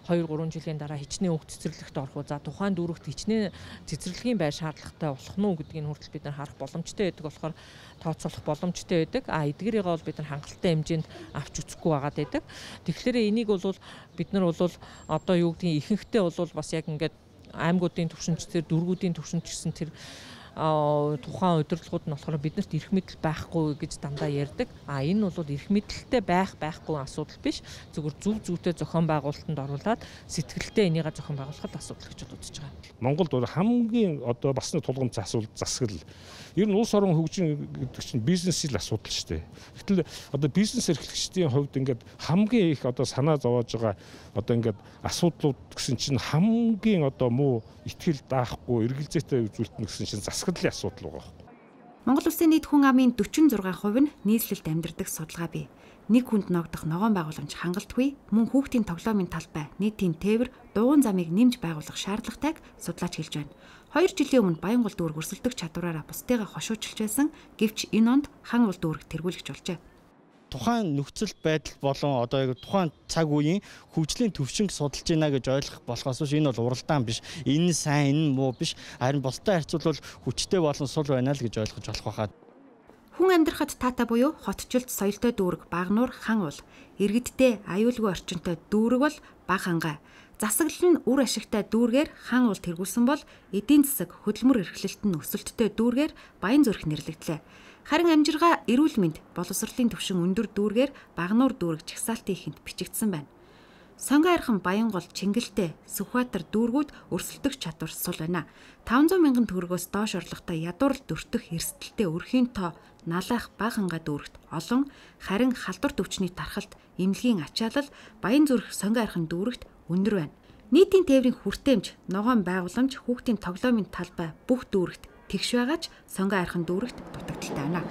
хоёр гурван жилийн дараа хичнээн хүүхд цэцэрлэгт орох уу. За тухайн дүүрэгт хичнээн цэцэрлэгийн байр шаардлагатай болох нь уу гэдгийг хүртэл бид нар харах боломжтой байдаг болохоор тооцоолох боломжтой байдаг. А эдгээрийг бол бид нар хангалттай хэмжээнд авч үзэхгүй байгаад байдаг. Тэгэхээр энийг бол бид нар бол одоо юу гэдгийг ихэнхдээ бол бас яг ингээд аймагуудын түвшинчдэр дүүргүүдийн түвшинч гэсэн тэр тухайн удирдлагууд нь болохоор биднэрт эрх мэдэл байхгүй гэж дандаа ярьдаг. А энэ бол эрх мэдэлтэй байх байхгүй асуудал биш. Зөвхөн зөв зөвтэй зохион байгуулалтанд оруулаад сэтгэлтэй энийгээ зохион байгуулахад асуудал гэж үзэж байгаа. Монголд бол хамгийн одоо бас нэг тулгамдсан асуудал засаглал. Ер нь улс орон хөгжин гэдэг чинь бизнесийн асуудал шүү дээ. Гэтэл одоо бизнес эрхлэгчдийн хувьд ингээд хамгийн их одоо санаа зовоож байгаа одоо ингээд асуудлууд гэсэн чинь хамгийн одоо муу итгэл даахгүй эргэлзээтэй үзүүлэлт гэсэн чинь засаглалын асуудал байгаа. Монгол Улсын нийт хүн амын дөрвөн зургаан хувь нь нийслэлд амьдардаг судалгаа бий. Нэг хүнд ногдох ногоон байгууламж хангалтгүй, мөн хүүхдийн тоглоомын талбай, нийтийн тээвэр, дугуйн замыг нэмж байгуулах шаардлагатайг судлаач хэлж байна. Хоёр жилийн өмнө Баянгол дүүрэг өрсөлдөх чадвараараа бусдыгаа хошуучилж байсан. Гэвч энэ онд хан ул дүүрэг тэргүүлэгч болжээ. Тухайн нөхцөл байдал болон одоо тухайн цаг үеийн хөгжлийн төвшинг судалж байна гэж ойлгох болохоос биш энэ бол уралдаан биш. Энэ сайн, энэ муу биш. Харин бусдад харьцуулбал хүчтэй болон сул байна л гэж ойлгож болох байхад. Хүн амьдрахад таатай буюу хотчлт соёлтой дүүрэг Багнуур хан ул, иргэдтэй аюулгүй орчинтой дүүрэг бол Баг хангай. Засаглал нь үр ашигтай дүүргээр хан ул тэргүүлсэн бол эдийн засаг хөдөлмөр эрхлэлт нь өсөлттэй дүүргээр Баян зүрх нэрлэгдлээ. Харин амжиргаа эрүүл мэнд боловсролын түвшин өндөр дүүргээр Багнуур дүүрэг жагсаалтын ихэнд бичигдсэн байна. Сонгон архан Баянгол Чингэлтэй Сүхбаатар дүүргүүд өрсөлдөх чадвар сул байна. таван зуун мянган төгрөгөөс доош орлоготой ядуурл дөртөх эрсдэлтэй өрхийн тоо налах Баг хангай дүүрэгт олон, харин халдвар төвчний тархалт эмнэлгийн ачаалал Баян зүрх Сонгон архан дүүрэгт өндөр байна. Нийтийн тээврийн хүртээмж, ногоон байгууламж, хүүхдийн тоглоомын талбай бүх дүүрэгт тэгш байгаач Сонгон архан дүүрэгт дутагдaltaй байна.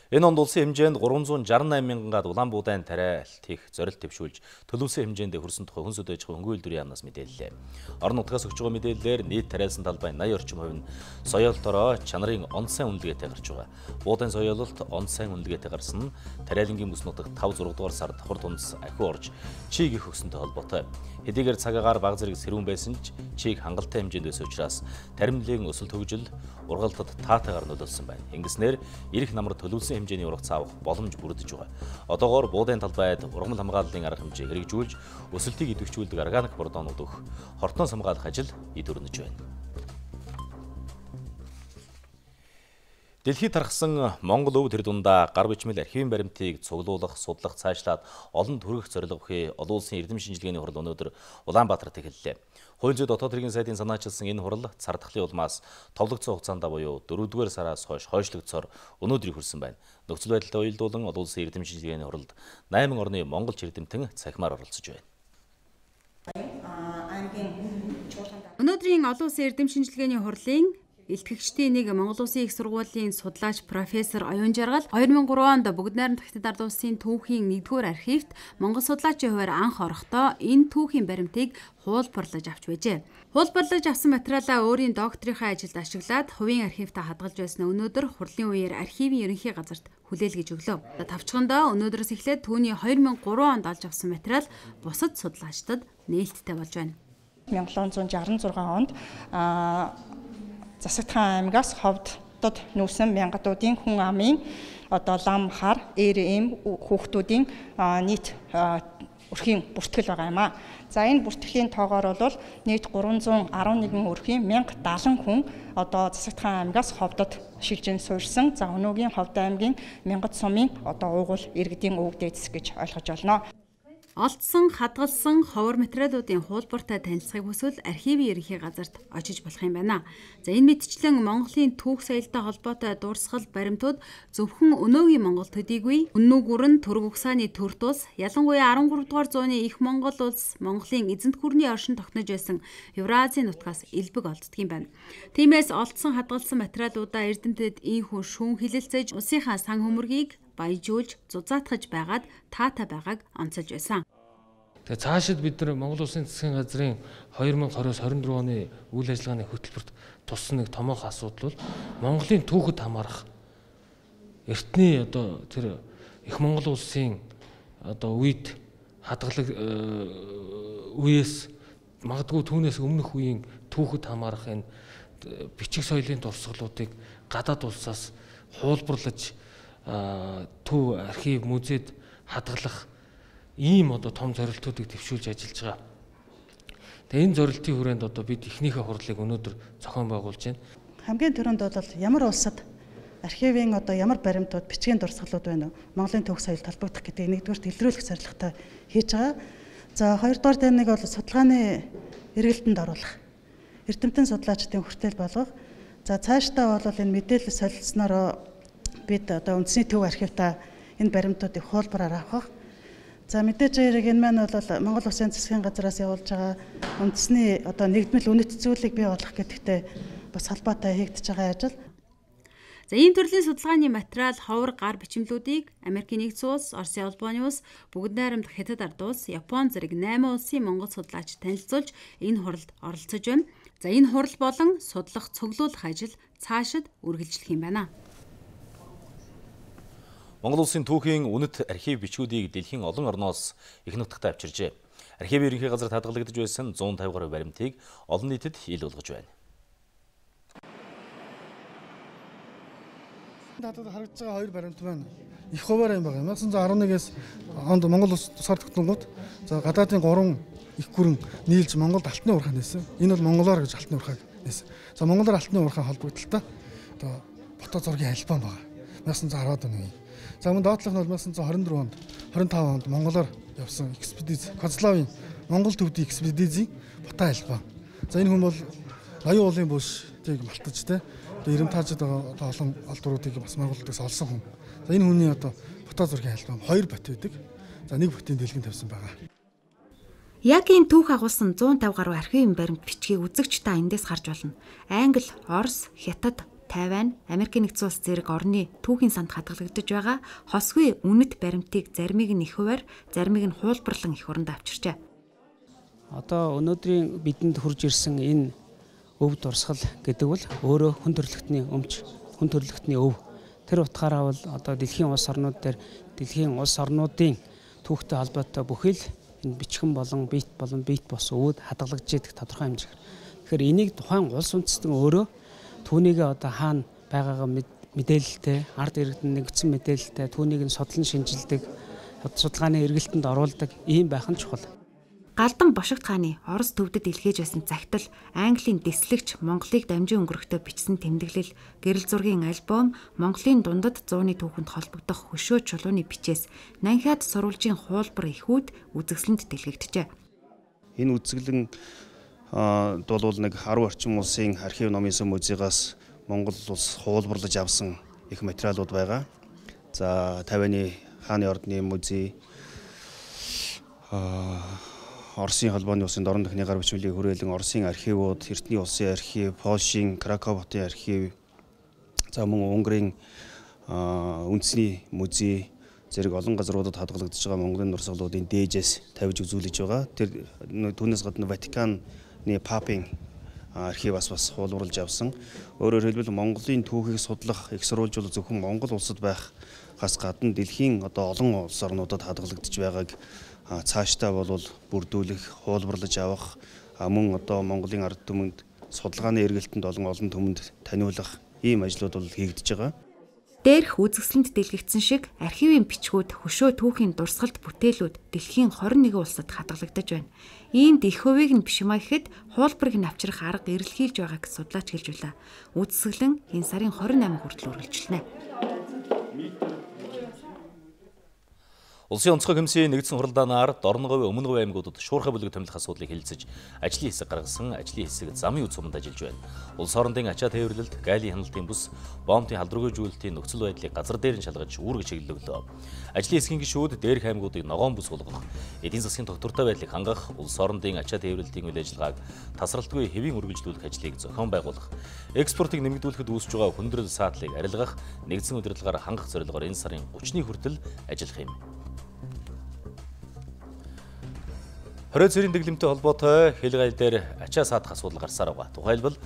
Энэ онд улсын хэмжээнд гурван зуун шарсан найман мянгаад улаан буудайн тариалт хийх зорилт төвшүүлж төлөвсөн хэмжээнд хөрсөн тухай хүн сүдэж байгаа хөнгөн үйлдвэрийн яамнаас мэдээллээ. Орон нутгаас өгч байгаа мэдээллээр нийт тариалсан талбай восемь орчим хувь нь соёолтороо чанарын он сайн үнэлгээтэй гарч байгаа. Буудайн соёололт он сайн үнэлгээтэй гарсан нь тариалангийн бүс нутагт таван зургаан дугаар сард давхар тунц ахиу орж чийг их өгсөнтэй холбоотой. Хэдийгээр цагаагаар баг зэрэг сэрүүн байсан ч чийг хангалттай хэмжээнд байсан учраас таримлын өсөлт хөгжил ургалтад таатайгаар нөлөөлсөн байна. Ингэснээр эрх намар төлөвлөсөн хэмжээний ургац авах боломж бүрдэж байгаа. Одоогоор буудайн талбайд ургамал хамгааллын арга хэмжээ хэрэгжүүлж өсөлтийг идэвхжүүлдэг органик бордоонууд өгөх хортон хамгаалах ажил эд өрнөж байна. Дэлхийд тархсан Монгол өв тэр дундаа гар бичмэл архивын баримтыг цуглуулах, судлах, цаашлаад олон төрөх зорилго бүхий олон улсын эрдэм шинжилгээний хурал өнөөдөр Улаанбаатарт эхэллээ. Хууль зүйн дотоод хэргийн сайдын санаачилсан энэ хурал цар тахлын улмаас товлогдсон хугацаанд буюу дөрөвдүгээр сараас хойш хойшлогдсоор өнөөдрийг хүрсэн байна. Нөхцөл байдалтай уялдуулан олон улсын эрдэм шинжилгээний хуралд найман орны монголч эрдэмтэн цахимаар оролцож байна. Өнөөдрийн олон улсын эрдэм шинжилгээний хурлын Илтгэгчдийн нэг Монгол Улсын их сургуулийн судлаач профессор Оюун Жаргал две тысячи три онд Бүгд найрамдах Хятад ард улсын түүхийн нэгдүгээр архивт Монгол судлаачийн хувьар анх орохдоо энэ түүхийн баримтыг хуулбарлаж авч байжээ. Хуулбарлаж авсан материалаа өөрийн докторийнхаа ажилд ашиглаад хувийн архивтаа хадгалж байсан өнөөдөр хурлын үеэр архивын ерөнхий газарт хүлээлгэж өглөө. Тавчхандаа өнөөдрөөс эхлээд түүний две тысячи три онд олж авсан материал бусад судлаачдад нээлттэй болж байна. найман шестьдесят шесть онд Засагтхан аймгаас ховдод нүүсэн мянгатуудын хүн амын одоо лам хар эр эм хүүхдүүдийн нийт өрхийн бүртгэл байгаа юм а. За энэ бүртгэлийн тоогоор бол нийт гурван зуун арван нэгэн өрхийн мянга даалан хүн одоо Засагтхан аймгаас ховдод шилжин суурьсан. За өнөөгийн Ховд аймгийн Мянгат сумын одоо уугуул иргэдийн өвөг дээдс гэж ойлгож байна. Олдсон, хадгалсан ховор материалуудын хуулбартай танилцахыг хүсвэл архивын ерөнхий газарт очиж болох юм байна. За энэ мэтчлэн Монголын түүх соёлтой холбоотой дурсгал баримтууд зөвхөн өнөөгийн Монгол төдийгүй үнэн гүрэн төрөг угсааны төр тус ялангуяа арван гурав дугаар зууны их Монгол улс Монголын эзэнт гүрний оршин тогтнож байсан Евразийн нутгаас элбэг олддог юм байна. Тиймээс олдсон хадгалсан материалуудаа эрдэмтэд ийхүү шүүн хилэлцэж улсынхаа сан хөмөргийг баяжуулж зузаатгаж байгаад таатай байгааг онцолж байсан. Тэгээ цаашид бид нар Монгол Улсын засгийн газрын две тысячи двадцать двадцать оны үйл ажиллагааны хөтөлбөрт туссан нэг томоохон асуудал бол Монголын түүхэд хамаарах эртний одоо тэр их Монгол Улсын одоо үед хадгалаг үеэс магадгүй түүнээс өмнөх үеийн түүхэд хамаарах энэ бичиг соёлын дурсгалуудыг гадаад улсаас хуулбарлаж төв архив музейд хадгалах ийм одоо том зорилтуудыг төвшүүлж ажиллаж байгаа. Тэгээ энэ зорилтын хүрээнд одоо бид эхнийхээ хурлыг өнөөдөр зохион байгуулж байна. Хамгийн түрүүнд бол ямар улсад архивын одоо ямар баримтууд, бичгийн дурсгалууд байна вэ? Монголын түүх соёлд холбогдох гэдгийг нэгдүгээрт илрүүлэх зорилготой хийж байгаа. За хоёрдугаар дээр нэг бол судалгааны эргэлтэнд оруулах. Эрдэмтэн судлаачдын хүртэл болгох. За цаашдаа бол энэ мэдээлэл солилцсноор бид одоо үндэсний төв архивтаа энэ баримтуудыг хуулбараар авах. За мэдээж хэрэг энэ маань бол Монгол Улсын засгийн газраас явуулж байгаа үндэсний одоо нэгдмэл үнэт зүйлийг бий болгох гэдэгтэй бас холбоотой хийгдэж байгаа ажил. За ийм төрлийн судалгааны материал ховор гар бичмлүүдийг Америкийн нэгдсэн улс, Оросын улбооны улс, Бүгд найрамдах Хятад ард улс, Япон зэрэг найман улсын монгол судлаач танилцуулж энэ хуралд оролцож байна. За энэ хурал болон судлах, цуглуулах ажил цаашид үргэлжлэх юм байна. Монгол Улсын түүхийн үнэт архив бичгүүдийг дэлхийн олон орноос их нутагт авчиржээ. Архивын ерөнхий газарт хадгалагдаж байсан one fifty гаруй баримтыг олон нийтэд ил болгож байна. Надад харагдаж байгаа хоёр баримт байна. Их хуваар юм байна. nineteen eleven-ээс онд Монгол Улс тусгаар тогтногод за гадаадын гурван их гүрэн нийлж Монголд алтны уурхай нээсэн. Энэ бол монголоор гэж алтны уурхайг нээсэн. За монголоор алтны уурхай холбогдолтой одоо фото зургийн альбом байна. nineteen ten оны. За мөн доотлох нь бол nineteen twenty-four онд twenty-five онд монголоор явсан экспедиц Концлавын Монгол төвдийн экспедицийн фото альбом. За энэ хүн бол ноён уулын бүшийг малтаж те одоо Эрэмтаажид байгаа олон олдруудыг бас Монголдоос олсон хүн. За энэ хүний одоо фото зургийн альбом хоёр бот байдаг. За нэг ботын дэлгэн тавьсан байгаа. Яг энэ түүх агуулсан one fifty гаруй архивын баримт бичгийг үзэгч та эндээс харж болно. Англи, Орос, Хятад, Тайвань, Америкийн нэгдсэн улс зэрэг орны түүхийн санд хадгалагдаж байгаа хосгүй үнэт баримтыг заримыг нь их хуваар, заримыг нь хуулбарлан их оронд авчирчээ. Одоо өнөөдрийн бидэнд хурж ирсэн энэ өв дурсгал гэдэг бол өөрөө хүн төрөлхтний өмч, хүн төрөлхтний өв. Тэр утгаараа бол одоо дэлхийн улс орнууд дээр дэлхийн улс орнуудын түүхтэй холбоотой бүхэл энэ бичгэн болон бит болон бит бос өвөд хадгалагдж идэх тодорхой хэмжээгээр. Тэгэхээр энийг тухайн улс үндэстэн өөрөө түүнийг одоо хаана байгаагаа мэдээлэлтэй, ард иргэдэнд нэгдсэн мэдээлэлтэй, түүнийг нь судлан шинжилдэг, судалгааны эргэлтэнд оруулдаг ийм байх нь чухал. Галдан Бошигт хааны Орос төвдөд илгээж байсан загтал, Английн дэслэгч Монголыг дамжин өнгөрөхдөө бичсэн тэмдэглэл, гэрэл зургийн альбом, Монголын дундад зууны түүхэнд холбогдох хөшөө чулууны бичээс Нанхиад сурвалжийн хуулбар ихүүд үзэсгэлэнт дэлгэгдэжээ. Энэ үзэсгэлэн А бол нэг ten орчим улсын архив номын сан музейгаас Монгол улс хуулбарлаж авсан их материалууд байгаа. За Тайваны хааны ордны музей, Оросын холбооны улсын дорн төхний гар бичмэлийг хүрээлэн Оросын архивууд, Эртний улсын архив, Польшийн Краков хотын архив, за мөн Унгарын үндэсний музей зэрэг олон газруудад хадгалагдаж байгаа Монголын дурсгалуудын дээжээс тавьж үзүүлж байгаа. Тэр түүнээс гадна Ватиканы Папын архиваас бас хуулбарлаж авсан. Өөрөөр хэлбэл Монголын түүхийг судлах, их сурвалжуул зөвхөн Монгол улсад байхаас гадна дэлхийн одоо олон улс орнуудад хадгалагдаж байгааг цаашдаа бол бүрдүүлэх, хуулбарлаж авах, мөн одоо Монголын ард түмэнд судалгааны эргэлтэнд олон олон түмэнд таниулах ийм ажлууд бол хийгдэж байгаа. Дээрх үзэсгэлэнт дэлгэгдсэн шиг архивын бичгүүд, хөшөө түүхийн дурсгалт бүтээлүүд дэлхийн twenty-one улсад хадгалагдаж байна. Иймд их хувийг нь биш маа гэхэд хуулбарыг нь авчрах арга эрэлхийлж байгааг судлаач хэлж байлаа. Үзэсгэлэн энэ сарын twenty-eight хүртэл үргэлжилнэ. Улсын онцгой комиссийн нэгдсэн хуралдаанаар Дорноговь, Өмнөговь аймагуудад шуурхай бүлэг томилох асуудлыг хэлэлцэж, ажлын хэсэг гаргасан, ажлын хэсэг замын үе суманд ажиллаж байна. Улс орондын ачаа тээвэрлэлд, гайлын хяналтын бүс, бомбын халдваргүйжүүлэлтийн нөхцөл байдлыг газар дээр нь шалгаж үүрэг чиглэлөглөө. Ажлын хэсгийн гишүүд дээрх аймагуудыг ногоон бүс болгох, эдийн засгийн тогтвортой байдлыг хангах, улс орондын ачаа тээвэрлэлтийн үйл ажиллагааг тасралтгүй хэвийн үргэлжлүүлэх ажлыг зохион байгуулах, экспортыг нэмэгдүүлэхэд үүсэж байгаа хүндрэл саатлыг арилгах, нэгдсэн удирдлагаар хангах зорилгоор энэ сарын гуравны хүртэл ажиллах юм. Хорой цэрийн дэглэмтэй холбоотой хэл гайл дээр ачаа саадах асуудал гарсаар байгаа. Тухайлбал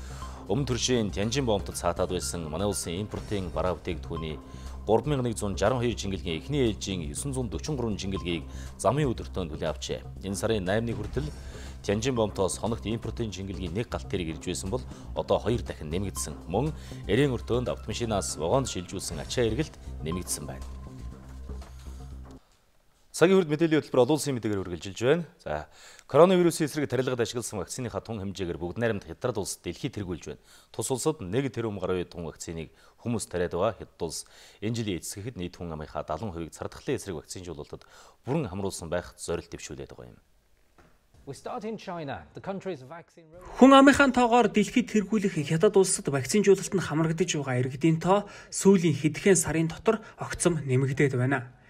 өмнө төршийн Тянжин бомбтод саатаад байсан манай улсын импортын бараа бүтээгдэхүүний гурван мянган нэгэн зуун жарган хоёр жингэлгийн эхний ээлжийн девять зуун дөрвөн гурван жингэлгийг замын өдөртөнд хүлээн авчээ. Энэ сарын наймны хүртэл Тянжин бомбтоос хоногт импортын жингэлгийн нэг галт тэрэг ирж байсан бол одоо хоёр дахин нэмэгдсэн. Мөн эрийн өртөөнд автомашинаас вагонд шилжүүлсэн ачаа эргэлт нэмэгдсэн байна. Цагийн хүрд мэдээллийн хөтөлбөр олон улсын мэдээгээр үргэлжилж байна. За, коронавирусын эсрэг тарилгад ашигласан вакцины хатун хэмжээгээр бүгд найрамд Хятад улс дэлхийд тэргүүлж байна. Тус улсад нэг тэрбум гаруй тун вакциныг хүмүүс тариад байгаа. Хятад улс энэ жилийн эцгэхэд нийт хүн амынхаа дагалан хувийг цардахлын эсрэг вакцинжуулалтад бүрэн хамруулсан байх зорилт дэвшүүлээд байгаа юм. Хүн амынхаа тоогоор дэлхийд тэргүүлэх Хятад улсад вакцинжуулалт нь хамрагдаж байгаа иргэдийн тоо сүүлийн хэдхэн сарын дотор огцом нэмэгдээд байна.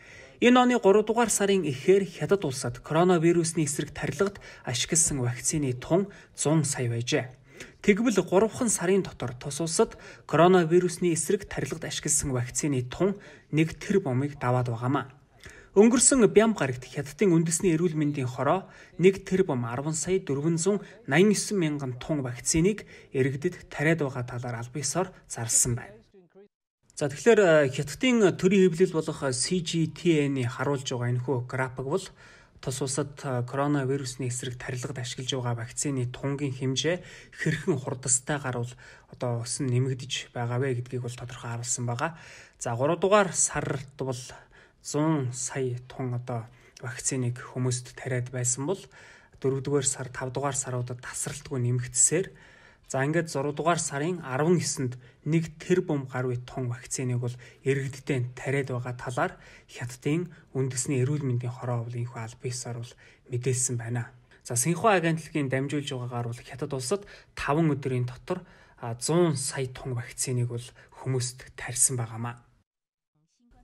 Энэ оны гурав дугаар сарын эхээр Хятад улсад коронавирусны эсрэг тарилгад ашигласан вакцины тун зуун сая байжээ. Тэгвэл гуравхан сарын дотор тус улсад коронавирусны эсрэг тарилгад ашигласан вакцины тун нэг тэрбумыг даваад байгаамаа. Өнгөрсөн бям гарагт Хятадын үндэсний эрүүл мэндийн хороо нэг тэрбум арван сая дөрвөн зуун найман есөн мянган тун вакциныг иргэдэд тариад байгаа талаар аль биесээр зарласан байна. За тэгэхээр Хятадын төрийн хэвлэл болох си жи ти эн-ий харуулж байгаа энэхүү график бол тус улсад коронавирусны эсрэг тарилгад ашиглаж байгаа вакцины тунгийн хэмжээ хэрхэн хурдастайгаар бол одоо өсөн нэмэгдэж байгаа вэ гэдгийг бол тодорхой харуулсан байгаа. За гурав дугаар сард бол зуун сая тун одоо вакциныг хүмүүст тариад байсан бол дөрөвдүгээр сар, тавдугаар саруудад тасралтгүй нэмэгдсээр за ингээд зураг дугаар сарын арван есэнд нэг тэрбум гаруй тун вакциныг бол иргэддээ тариад байгаа талаар Хятадын үндэсний эрүүл мэндийн хороо бол энэхүү аль биесээр бол мэдээлсэн байна. За Синхуа агентлагийн дамжуулж байгаагаар бол Хятад улсад таван өдрийн дотор зуун сая тун вакциныг бол хүмүүст тарьсан байгаамаа.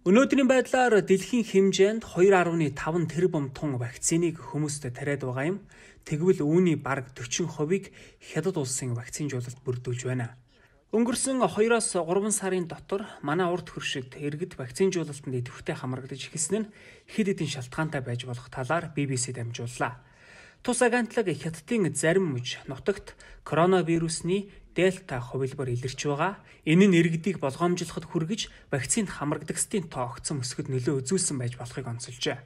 Өнөөдрийн байдлаар дэлхийн хэмжээнд хоёр арван таван тэрбум тун вакциныг хүмүүст тариад байгаа юм. Тэгвэл үүний бараг дөрвөн хувийг Хятад улсын вакцинжуулалт бүрдүүлж байна. Өнгөрсөн хоёроос гурван сарын дотор манай урд хөршид иргэд вакцинжуулалтанд идэвхтэй хамрагдаж эхэлсэн нь хэд хэдэн шалтгаантай байж болох талаар би би си дамжууллаа. Тус агентлаг Хятадын зарим мужи нутагт коронавирусны дельта хувилбар илэрч байгаа. Энэ нь иргэдийг болгоомжлоход хүргэж вакцинд хамрагдагчдын тоо огцом өсгөхөд нөлөө үзүүлсэн байж болохыг онцолжээ.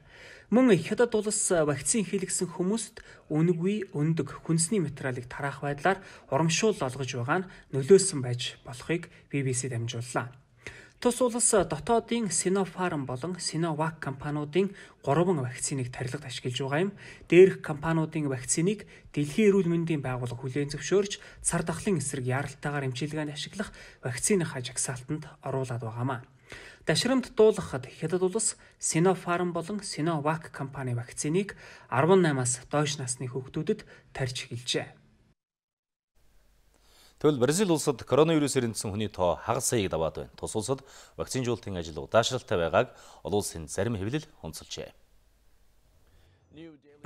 Мөн Хятад улс вакцин хийлгсэн хүмүүст үнэгүй өндөг хүнсний материалыг тараах байдлаар урамшуул олгож байгаа нь нөлөөсөн байж болохыг би би си дамжууллаа. Тус улс дотоодын Sinopharm болон Sinovac компаниудын гурван вакциныг тарилгад ашиглаж байгаа юм. Дээрх компаниудын вакциныг Дэлхийн эрүүл мэндийн байгууллага хүлээн зөвшөөрч цар тахлын эсрэг яаралтайгаар эмчилгээнд ашиглах вакциныхаа жагсаалтанд оруулаад байгаамаа. Дашрамд дуулгахад Хятад улс Sinopharm болон Sinovac компани вакциныг арван наймаас доош насны хүүхдүүдэд тарьж эхэлжээ. Тэгвэл Бразил улсад коронавирусээр эндсэн хүний тоо хагас саяыг даваад байна. Тус улсад вакцинжуулалтын ажил удаашралтай байгааг олон улсын зарим хэвлэл онцолжээ.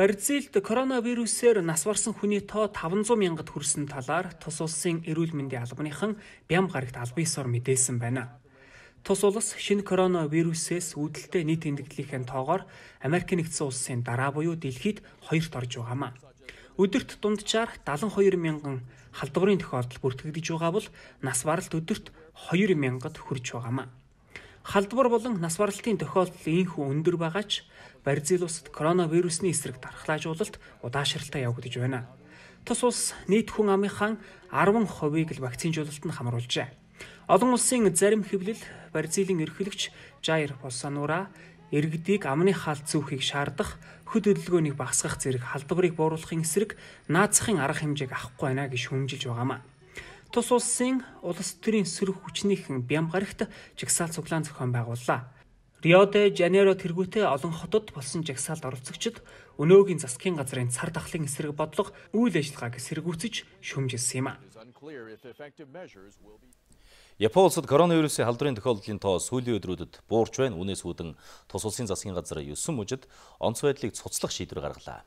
Бразилд коронавирусээр нас барсан хүний тоо таван зуун мянгад хүрсэн талаар тус улсын эрүүл мэндийн албаныхан бям гарагт аль биесээр мэдээлсэн байна. Тус улс шинэ коронавирусээс үүдэлтэй нийт тэмдэглэлийн тоогоор Америк нэгдсэн улсын дараа буюу дэлхийд хоёрт орж байгаамаа. Өдөрт дунджаар дагалан хоёр мянган халдварын тохиолдол бүртгэгдэж байгаа бол нас баралт өдөрт хоёр мянгад хүрч байгаамаа. Халдвар болон нас баралтын тохиолдол ийхүү өндөр байгаа ч Бразил улсад коронавирусны эсрэг дархлаажуулалт удаашралтай явагдаж байна. Тус улс нийт хүн амынхаа арван хувийг л вакцинжуулалтанд хамруулжээ. Олон улсын зарим хэвлэл Бразилийн ерөнхийлөгч Jair Bolsonaro иргэдийг амны хаалт зүүхийг шаардах, хөд хөдөлгөөнийг багасгах зэрэг халдварыг бууруулахын эсрэг наазахын арга хэмжээг авахгүй байна гэж хүмжилж байгаамаа. Тус улсын улс төрийн сөрөг хүчнийхэн бям гарагт жагсаал цуглаан зохион байгууллаа. Рио де Жанейро тэргүүтээ олон хотод болсон жагсаалд оролцогчид өнөөгийн засгийн газрын цар тахлын эсрэг бодлого үйл ажиллагааг эсэргүүцэж шүүмжилсэн юм а. Япон улсад коронавирусын халдварын тохиолдлын тоо сүүлийн өдрүүдэд буурч байна. Үүнээс үүдэн тус улсын засгийн газар есөн мужид онц байдлыг цуцлах шийдвэр гаргалаа.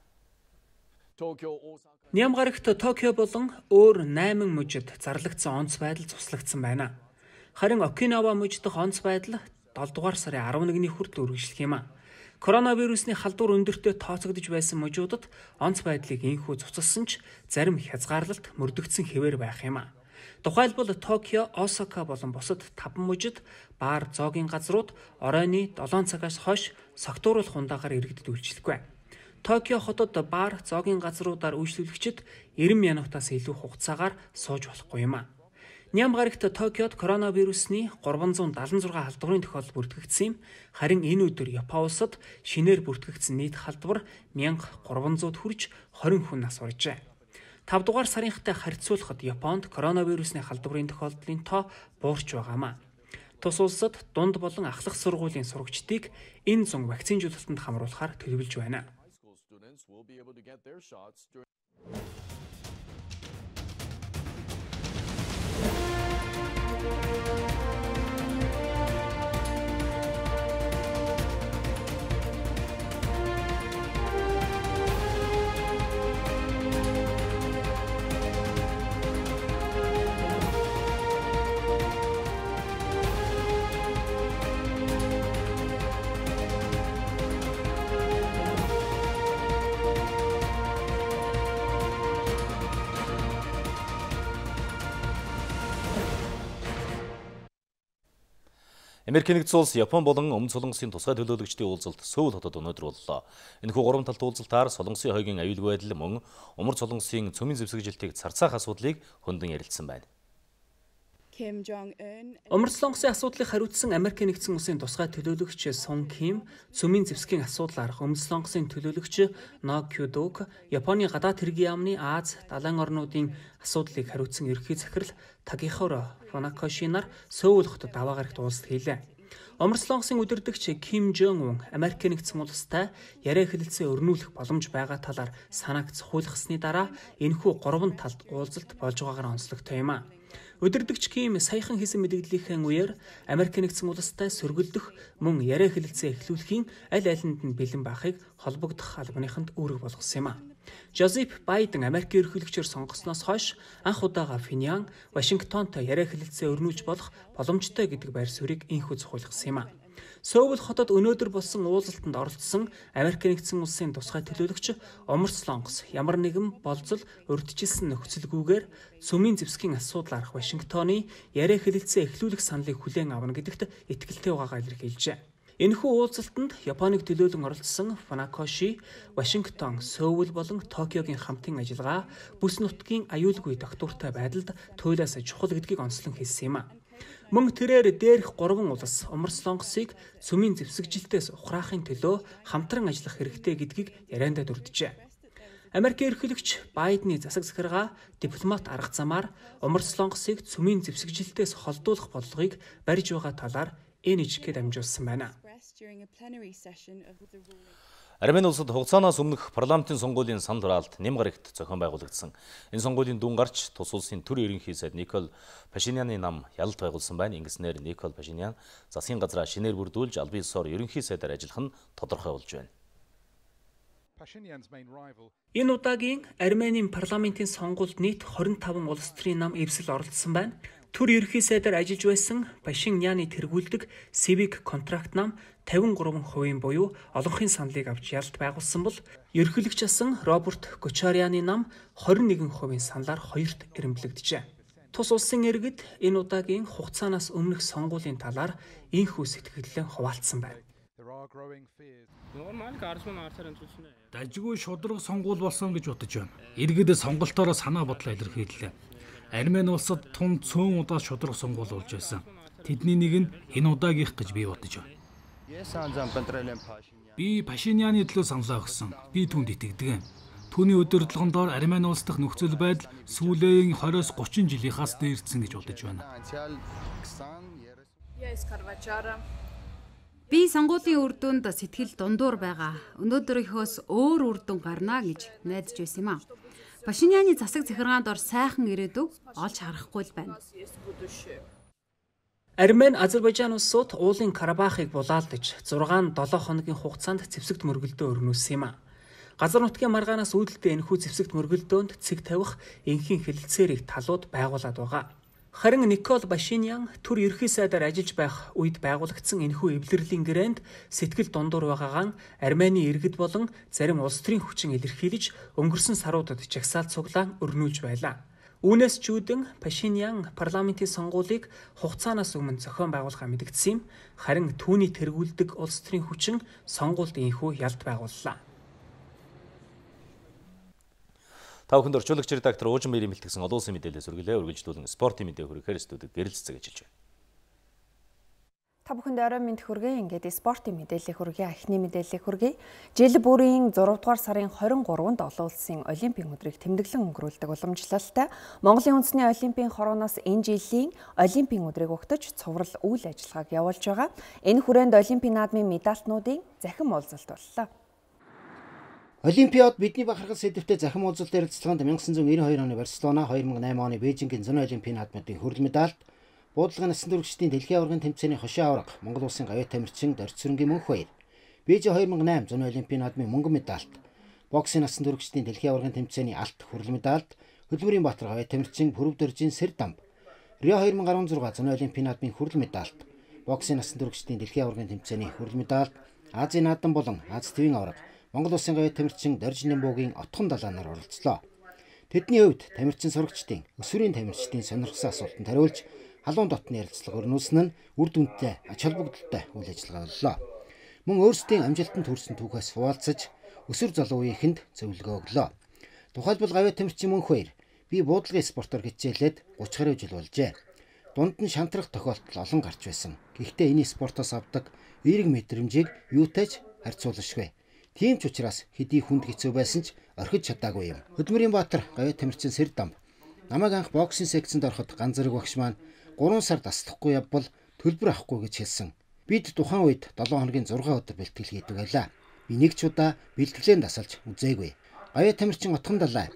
Ням гарагт Токио болон өөр найман мужид зарлагдсан онц байдал цуслагдсан байна. Харин Окинава мужид дах онц байдал долоо дугаар сарын арван нэгний хүртэл үргэлжлэх юм а. Коронавирусны халдвар өндөртөө тооцогдож байсан мужуудад онц байдлыг инхүү цуцалсан ч зарим хязгаарлалт мөрдөгдсөн хэвээр байх юм а. Тухайлбал Токио, Осака болон бусад таван мужид баар, зоогийн газрууд оройны долоон цагаас хойш согтууруулах хундаагаар иргэдэд үйлчлэхгүй. Токио хотод баар, зоогийн газруудаар үйлчлүүлэгчид найман минутаас илүү хугацаагаар сууж болохгүй юм а. Ням гарагт Токиод коронавирусны гурван зуун дагалан зургаан халдварын тохиолдол бүртгэгдсэн юм. Харин энэ өдөр Япон улсад шинээр бүртгэгдсэн нийт халдвар мянга гурван зууд хүрч хорин хүн нас баржээ. тавь дугаар сарынхтай харьцуулахад Японд коронавирусны халдварын тохиолдлын тоо буурч байгаамаа. Тус улсад дунд болон ахлах сургуулийн сурагчдыг энэ зун вакцинжуулалтанд хамруулахаар төлөвлөж байна. Америкийн нэгдсэн улс Япон болон Өмнөд Солонгосын тусгай төлөөлөгчдийн уулзалт Сөүл хотод өнөөдөр боллоо. Энэхүү гурван талт уулзалтаар Солонгосын хойгийн аюулгүй байдал мөн Умар Солонгосын цөмийн зэвсэгжилтийг царцаах асуудлыг хөндлөн ярилцсан байна. Умар Солонгосын асуудлыг хариуцсан Америкийн нэгдсэн улсын тусгай төлөөлөгч Сун Ким, цөмийн зэвсгийн асуудлаар Өмнөд Солонгосын төлөөлөгч Но Кюдок, Японы гадаад хэргийн яамны Аз, далайн орнуудын асуудлыг хариуцсан ерөнхий захирал Такихоро Фунакошинаар Сөүл хотод даваа гарагт уулзалт хийлээ. Умар Солонгосын удирдагч Ким Жон Ун Америкийн нэгдсэн улстай яриа хэлэлцээ өрнүүлэх боломж байгаа талаар санааг цохиулгасны дараа энэхүү гурван талд уулзалт болж байгаагаар онцлогтой юм а. Удирдагч Ким саяхан хийсэн мэдээллийнхэн үеэр Америкийн нэгдсэн улстай сөргөлдөх мөн яриа хэлэлцээ эхлүүлэхийн аль алинд нь бэлэн байхыг холбогдох албаныханд үүрэг болгосон юм а. Жозеф Байден Америкийн ерөнхийлөгчөөр сонгогдсноос хойш анх удаага Пхеньян, Вашингтонтой яриа хэлэлцээ өрнүүлж болох боломжтой гэдэг байр суурийг инхүү цохиулгасан юм а. Сөүл хотод өнөөдөр болсон уулзалтанд оролцсон Америкийн нэгдсэн улсын тусгай төлөөлөгч Умар Солонгос ямар нэгэн болзол урьдчилсан нөхцөлгүйгээр цөмийн зэвсгийн асуудлаарх Вашингтоны яриа хэлэлцээ эхлүүлэх саналыг хүлээн авна гэдэгт итгэлтэй байгаагаа илэрхийлжээ. Энэхүү уулзалтанд Японыг төлөөлөн оролцсон Фунакоши, Вашингтон, Сөүл болон Токиогийн хамтын ажиллагаа бүс нутгийн аюулгүй тогтвортой байдалд туйлаас чухал гэдгийг онцлон хэлсэн юм а. Мөн тэрээр дээрх гурван улс Умар Солонгосыг цөмийн зэвсэгжилтээс ухраахын төлөө хамтран ажиллах хэрэгтэй гэдгийг яриандаа дүрдэжээ. Америкийн ерөнхийлөгч Байдны засаг захиргаа дипломат арга замаар Умар Солонгосыг цөмийн зэвсэгжилтээс холдуулах бодлогыг барьж байгаа талаар эн ичгээд амжуулсан байна. Армени улсад хугацаанаас өмнөх парламентын сонгуулийн санал хураалт нэм гарагт зохион байгуулагдсан. Энэ сонгуулийн дүн гарч тус улсын төр ерөнхий сайд Никол Пашиняны нам ялалт байгуулсан байна. Ингэснээр Никол Пашинян засгийн газраа шинээр бүрдүүлж албан ёсоор ерөнхий сайдаар ажиллах нь тодорхой болж байна. Энэ удаагийн Арменийн парламентын сонгуульд нийт хорин таван улс төрийн нам эвсэл оролцсон байна. Төр ерөнхий сайдаар ажиллаж байсан Пашиняны тэргүүлдэг Civic Contract нам тавин гурван хувийн буюу олонхын саналыг авч ялалт байгуулсан бол ерөнхийлөгч асан Роберт Кочаряны нам хорин нэгэн хувийн саналаар хоёрт эрэмблэгдэжээ. Тус улсын иргэд энэ удаагийн хугацаанаас өмнөх сонгуулийн талаар инхүү сэтгэлдээ хуваалцсан байна. Дажгүй шудраг сонгуул болсон гэж бодож байна. Иргэд сонголтоор санаа бодлоо илэрхийллээ. Армени улсад тун цөөн удаа шудраг сонгуул болж байсан. Тэдний нэг нь энэ удаагийнх гэж би бодож байна. Би Пашиняны төлөө саналаа өгсөн. Би түүнд итгэдэг. Түүний удирдлагын Армени улс дахь нөхцөл байдал сүүлийн двадцать тридцать жилийнхаас дээрдсэн гэж бодож байна. Би сонгуулийн үр дүнд сэтгэл дундуур байгаа. Өнөөдрийнхөөс өөр үр дүн гарна гэж найдаж байсан юм а. Пашиняны засаг захиргаанд ор сайхан ирээдүг олж харахгүй л байна. Армен Азербайджан улсууд уулын Карабахыг булаалдаж зургаан долоо хоногийн хугацаанд зэвсэгт мөргөлдөө өрнүүлсэн юм а. Газар нутгийн маргаанаас үүдэлтэй энэхүү зэвсэгт мөргөлдөөнд цэг тавих энхийн хэлэлцээрийг талууд байгуулад байгаа. Харин Никол Пашинян түр ерхий сайдаар ажиллаж байх үед байгуулагдсан энэхүү эвлэрлийн гэрээнд сэтгэл дундуур байгаагаан Армени иргэд болон зарим улс төрийн хүчин илэрхийлж өнгөрсөн саруудад жагсаал цуглаан өрнүүлж байлаа. Үүнээс чүүдэн Пашинян парламентын сонгуулийг хугацаанаас өмнө зохион байгуулахаа мэдгдсэн юм. Харин түүний тэргүүлдэг улс төрийн хүчин сонгуульд энэхүү ялт байгууллаа. Та бүхэнд орчуулагч редактор Уужин Баярын бэлтгэсэн олон улсын мэдээлэл сүргэлээ үргэлжлүүлэн спортын мэдээ хүрэхээр студид гэрэл цэцэг ажиллаж байна. Та бүхэнд орой мэнд хүргэе. Ингээд спортын мэдээллийг хүргэе. Эхний мэдээллийг хүргэе. Жил бүрийн зурав дугаар сарын хорин гурванд олон улсын олимпийн өдрийг тэмдэглэн өнгөрүүлдэг уламжлалтай Монголын үндэсний олимпийн хорооноос энэ жилийн олимпийн өдрийг угтаж цуврал үйл ажиллагааг явуулж байгаа. Энэ хүрээнд олимпийн наадмын медальтнуудын захин уулзалт боллоо. Олимпиад бидний бахархал сэдвтэй захин уулзалт ярилцлаганд 천구၉chín хоёр оны Барселона, две тысячи восемь оны Бээжингийн зуны олимпийн наадмын хүрэл медальт, буудлагын насан туршидын дэлхийн аваргын тэмцээний хошин аварга Монгол улсын гавьяа тамирчин Дорцсүрэнгийн мөнх баяр, Бээжин две тысячи восемь зуны олимпийн наадмын мөнгөн медальт, боксын насан туршидын дэлхийн аваргын тэмцээний алт хүрэл медальт, Хөдөлмөрийн Баатар гавьяа тамирчин Пүрэв Доржийн сэр дамб, Рио две тысячи шесть зуны олимпийн наадмын хүрэл медальт, боксын насан туршидын дэлхийн аваргын тэмцээний хүрэл медальт, Азийн наадам болон Аз твийн аварга Монгол улсын гавьяа тамирчин Доржин Нэмбогийн отхон далаанаар оролцлоо. Тэдний хувьд тамирчин сурагчдын, өсвөрийн тамирчдын сонирхсан асуултанд хариулж, халуун дотны ярилцлага өрнүүлсэн нь үр дүнтэй, ач холбогдолтой үйл ажиллагаа боллоо. Мөн өөрсдийн амжилтанд хүрсэн түүхээс хуваалцаж, өсвөр залуу үеийнхэнд зөвлөгөө өглөө. Тухайлбал гавьяа тамирчин мөнх баяр би буудлагын спортоор хичээлээд гуч гаруй жил болжээ. Дунд нь шантрах тохиолдол олон гарч байсан. Гэхдээ энэ спортоос авдаг эерэг мэдрэмжийг юутайч харьцуулашгүй. Тийм ч учраас хэдий хүнд хэцүү байсан ч орхиж чадаагүй юм. Хөдөлмөрийн Баатар гавьяа тамирчин сэр дамб намайг анх боксын секцэнд ороход ганц зэрэг багш маань гурван сар таслахгүй явбал төлбөр авахгүй гэж хэлсэн. Бид тухайн үед долоо хоногийн зураг өдөр бэлтгэл хийдэг байлаа. Би нэг ч удаа бэлтгэлээ дасалж үзээгүй. Гавьяа тамирчин отхон далай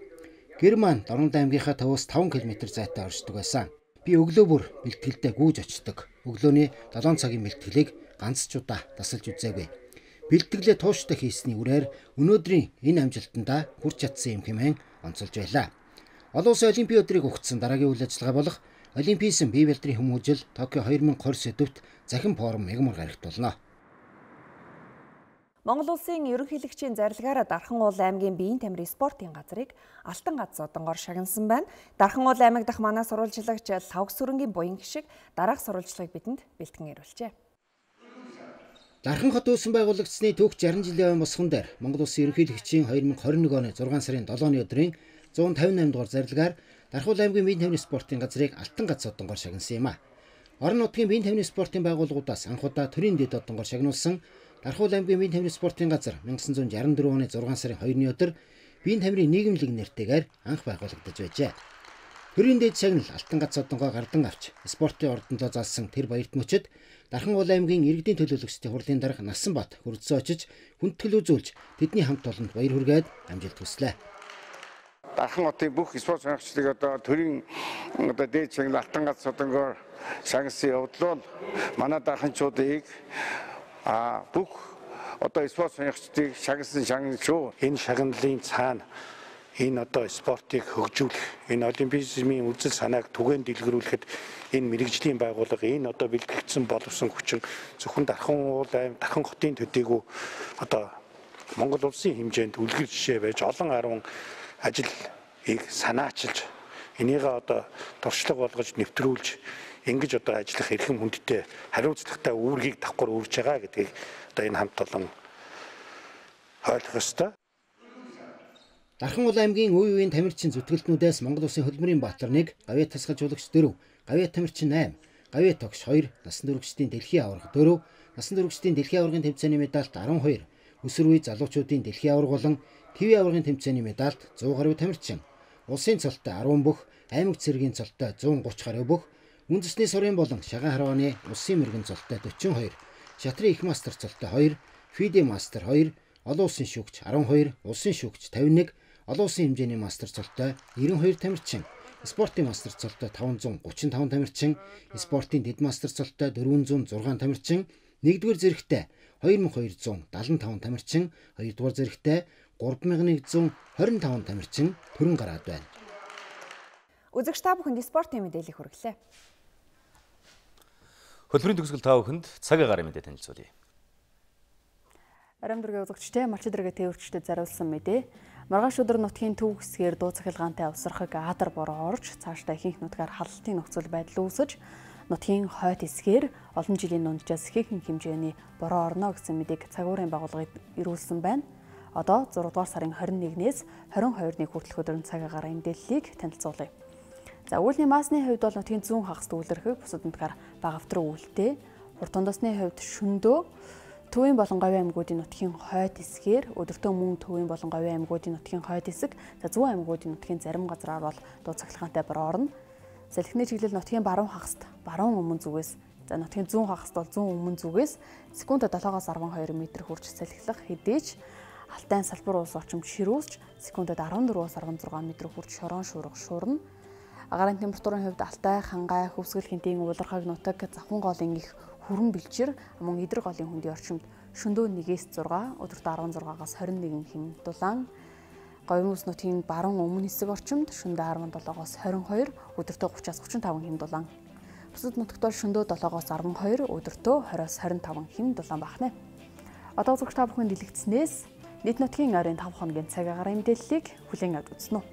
гэр маань Дорнод аймгийнхаа төвөөс таван километр зайтай оршдог байсан. Би өглөө бүр бэлтгэлдээ гүйж очдог. Өглөөний долоон цагийн бэлтгэлийг ганц ч удаа дасалж үзээгүй. Бэлтгэлээ тууштай хийсний үрээр өнөөдрийн энэ амжилтандаа хүрч чадсан юм хэмээн онцолж байлаа. Олон улсын олимпийн өдрийг угтсан дараагийн үйл ажиллагаа болох Олимпийсэн бие бэлтрийн хүмүүжил Токио две тысячи двадцать сэдвт захин форум мягмар гарагт болно. Монгол улсын ерөнхийлөгчийн зарилгаараа Дархан уул аймгийн биеийн тамирын спортын газрыг Алтан гац зодонгоор шагнасан байна. Дархан уул аймаг дахь манай сурвалжлагч Лавг Сүрэнгийн буян гişиг дараах сурвалжлагыг бидэнд бэлтгэн ирүүлжээ. Дархан хот үүсэн байгуулагдсны түүх шарим жилийн босгон дээр Монгол улсын ерөнхийлөгчийн две тысячи двадцать один оны зургаан сарын долооны өдрийн one hundred fifty-eight дугаар зарилгаар Дархан уул аймгийн биеийн тамирын спортын газрыг Алтан гац зодонгоор шагнасан юм а. Орон нутгийн биеийн тамирын спортын байгууллагуудаас анх удаа төрийн дэд зодонгоор шагнуулсан Дархан уул аймгийн биеийн тамирын спортын газар 천구 шестьдесят four оны зургаан сарын second-ны өдөр биеийн тамирын нийгэмлэг нэртэйгээр анх байгуулагдаж байжээ. Төрийн дэд шагнал Алтан гац зодонгоо гардан авч спортын ордондоо залсан тэр баярт мөчөд Дархан уул аймгийн иргэдийн төлөөлөгчдийн хурлын дарга Насанбат хүрэлцэн очиж хүндэтгэл үзүүлж тэдний хамт олонд баяр хүргээд амжилт хүслээ. Дархан хотын бүх спорт сонирхчдыг одоо төрийн одоо дээд шагнал Алтан гац зодонгоор шагнасан явдлууд манай дарханчуудыг а бүх одоо спорт сонирхчдыг шагнасан шагнал шүү. Энэ шагналын цаана энэ одоо спортыг хөгжүүлэх, энэ олимпизмын үзэл санааг түгээн дэлгэрүүлэхэд энэ мэрэгжлийн байгууллага энэ одоо бэлтгэгдсэн боловсон хүчин зөвхөн Дархан уул аймаг, Дархан хотын төдийгүй одоо Монгол улсын хэмжээнд үлгэр жишээ байж олон арван ажлыг санаачилж энийг одоо туршлага болгож нэвтрүүлж ингэж одоо ажиллах эрхэм хүндтэй хариуцлагатай үүргийг давхар үрж байгаа гэдгийг одоо энэ хамт олон ойлгох ёстой. Дархан уул аймгийн үе үеийн тамирчин зүтгэлтнүүдээс Монгол улсын хөдөлмөрийн Баатар one, гавьяа тасгалжуулагч four, гавьяа тамирчин eight, гавьяа тогш two, насан туршидын дэлхийн аварга four, насан туршидын дэлхийн аваргын тэмцээний медальт twelve, өсвөр үе залуучуудын дэлхийн аварга болон твийн аваргын тэмцээний медальт one hundred гаруй тамирчин, улсын цолтой ten бүх, аймаг цэргийн цолтой one thirty гаруй бүх, үндэсний сурын болон шагаан харвааны улсын мэргэн цолтой forty-two, шатрын их мастер цолтой хоёр, фиде мастер хоёр, олон улсын шүүгч арван хоёр, улсын шүүгч тавин нэг, олон улсын хэмжээний мастер цолтой нэрэн хоёр тамирчин, спортын мастер цолтой таван зуун гучин таван тамирчин, спортын дэд мастер цолтой дөрвөн зуун зургаан тамирчин, нэгдүгээр зэрэгтэй хоёр мың хоёр зуун дадлан таван тамирчин, хоёрдугаар зэрэгтэй гурван мянган нэг зуун хорин таван тамирчин төрөн гараад байна. Үзэгч та бүхэнд спортын мэдээлэл хүргэлээ. Хөтөлбөрийн төгсгөл та бүхэнд цаг агаар мэдээ танилцуулъя. Арам дөргийн үзэгчтэй малч дөргийн тээвэрчдэд зариулсан мэдээ. Маргааш өдөр нутгийн төв хэсгээр дуу цахилгаантай авсрахыг адар бороо орж цаашдаа ихэнх нутгаар халалтын нөхцөл байдал үүсэж нутгийн хойд хэсгээр олон жилийн дунджаас ихэнх хэмжээний бороо орно гэсэн мэдээг цагуурын байгууллагыг ирүүлсэн байна. Одоо зураг дугаар сарын хорин нэгнээс хорин хоёрны хүртэлх өдрийн цаг агаарын мэдээллийг танилцуулъя. За үүлний маасны хувьд бол нутгийн зүүн хагас дүүлэрхэг бусад нутгаар багавтран үүлтэй. Урт тундасны хувьд шөндөө Төвийн болон Говийн аймагуудын нутгийн хойд хэсгээр өдөртөө мөн Төвийн болон Говийн аймагуудын нутгийн хойд хэсэг, за зүүн аймагуудын нутгийн зарим газраар бол дуу цахилгаантай бороо орно. Салхины чиглэл нутгийн баруун хагаст баруун өмнө зүгээс, за нутгийн зүүн хагаст бол зүүн өмнө зүгээс секундэд долоогоос арван хоёр метр хүрч салхилах хэдийч Алтай салбар улс орчимд ширүүсч секундэд арван дөрвөөс арван зургаан метр хүрч шорон шуурга шуурна. Агаарын температурын хувьд Алтай, Хангай, Хөвсгөл хинтийн Улархаг нутаг, Завхан голын их Хүрэн бэлчир, мөн Идэр голын хөндийн орчимд шөндөө нэгээс зургаан, өдөртөө арван зургаагаас хорин нэгэн хэм дулаан. Говийн ус нутгийн баруун өмнө хэсэг орчимд шөндөө арван долоогоос хорин хоёр, өдөртөө гуравчаас гучин таван хэм дулаан. Бусад нутагт бол шөндөө долоогоос арван хоёр, өдөртөө двадцать-аас хорин таван хэм дулаан бахна. Одоо үзэгч та бүхэнд дэлгэцснээс нийт нутгийн ойрын таван хоногийн цаг агаарын мэдээллийг хүлээн авч үзнэ үү.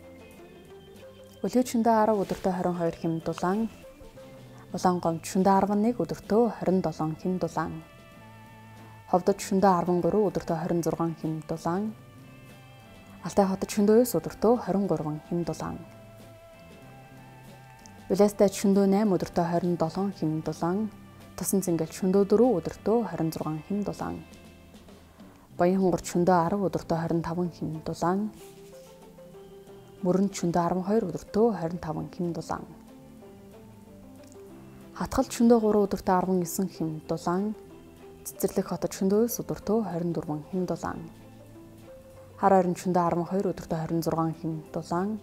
Өлгөөд шөндөө арав, өдөртөө хорин хоёр хэм дулаан. Улаангомд шөндөө арван нэг, өдөртөө хорин долоон хэм дулаан. Ховдод шөндөө арван гурав, өдөртөө хорин зургаан хэм дулаан. Алтай хотод шөндөө девять, өдөртөө хорин гурван хэм дулаан. Улаастайд шөндөө найман, өдөртөө хорин долоон хэм дулаан. Тусан цэнгэлд шөндөө дөрөв, өдөртөө хорин зургаан хэм дулаан. Баян хонгорд шөндөө арав, өдөртөө хорин таван хэм дулаан. Мөрөнд шөндөө арван хоёр, өдөртөө хорин таван хэм дулаан. Хатгалд шөндөө гурав, өдөртөө арван девять хэм дулаан. Цэцэрлэг хотод шөндөө девять, өдөртөө хорин дөрвөн хэм дулаан. Хар ойрон шөндөө арван хоёр, өдөртөө хорин зургаан хэм дулаан.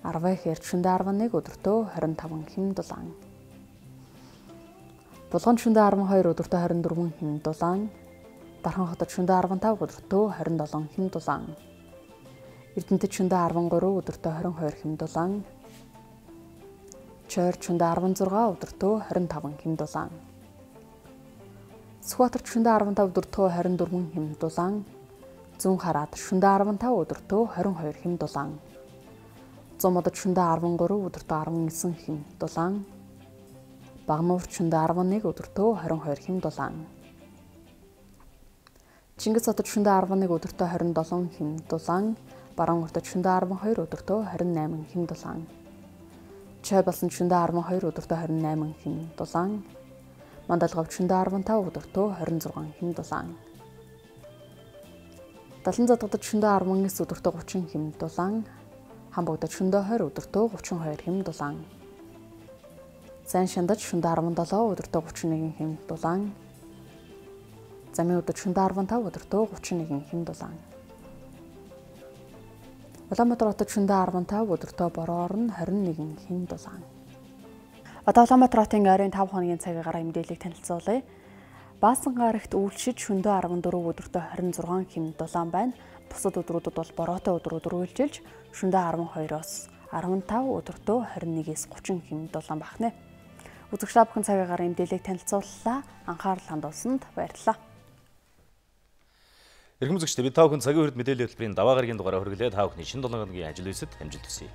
Арвай хэрд шөндөө арван нэг, өдөртөө хорин таван хэм дулаан. Булганд шөндөө арван хоёр, өдөртөө хорин дөрвөн хэм дулаан. Дархан хотод шөндөө арван тав, өдөртөө хорин долоон хэм дулаан. Эрдэнэтэд шөндөө арван гурав, өдөртөө хорин хоёр хэм дулаан. Чойрд шөндөө арван зургаан, өдөртөө хорин таван хэм дулаан. Сүхбаатарт шөндөө арван тав, өдөртөө хорин дөрвөн хэм дулаан. Зүүн хараад шөндөө арван тав, өдөртөө хорин хоёр хэм дулаан. Зүүн модод шөндөө арван гурав, өдөртөө арван девять хэм дулаан. Багнуурт шөндөө арван нэг, өдөртөө хорин хоёр хэм дулаан. Чингис хотод шөндөө арван нэг, өдөртөө хорин долоон хэм дулаан. Баруун уртад шөндөө арван хоёр, өдөртөө хорин найман хэм дулаан. Чой болсон шөндөө арван хоёр, өдөртөө хорин найман хэм дулаан. Мандалговд шөндөө арван тав, өдөртөө хорин зургаан хэм дулаан. Далан задгадад шөндөө арван девять, өдөртөө гучин хэм дулаан. Хамбогдод шөндөө двадцать, өдөртөө гучин хоёр хэм дулаан. Зайн шандад шөндөө арван долоо, өдөртөө гучин нэг хэм дулаан. Замын өдөр шөндөө арван тав, өдөртөө гучин нэг хэм дулаан. Улаанбаатар хотод шөндөө арван тав, өдөртөө бороо орно хорин нэг хэм дулаан. Одоо Улаанбаатар хотын ойрын таван хоногийн цаг агаарын мэдээллийг танилцуулъя. Баасан гарагт үйлчид шөндөө арван дөрөв, өдөртөө хорин зургаан хэм дулаан байна. Бусад өдрүүдэд бол бороотой өдрүүд үргэлжилж шөндөө арван хоёроос арван тав, өдөртөө хорин нэгээс гучин хэм дулаан бахна. Үзэгч та бүхэн цаг агаарын мэдээллийг танилцууллаа. Анхаарал хандуулсанд баярлалаа. Эрхэм үзэгчдээ бид та бүхэн цагийн хүрд мэдээллийн хөтөлбөрийн даваа гарагийн дугаараар хүргэлээ. Та бүхний шинэ долоон хоногийн ажил үйлсэд амжилт хүсье.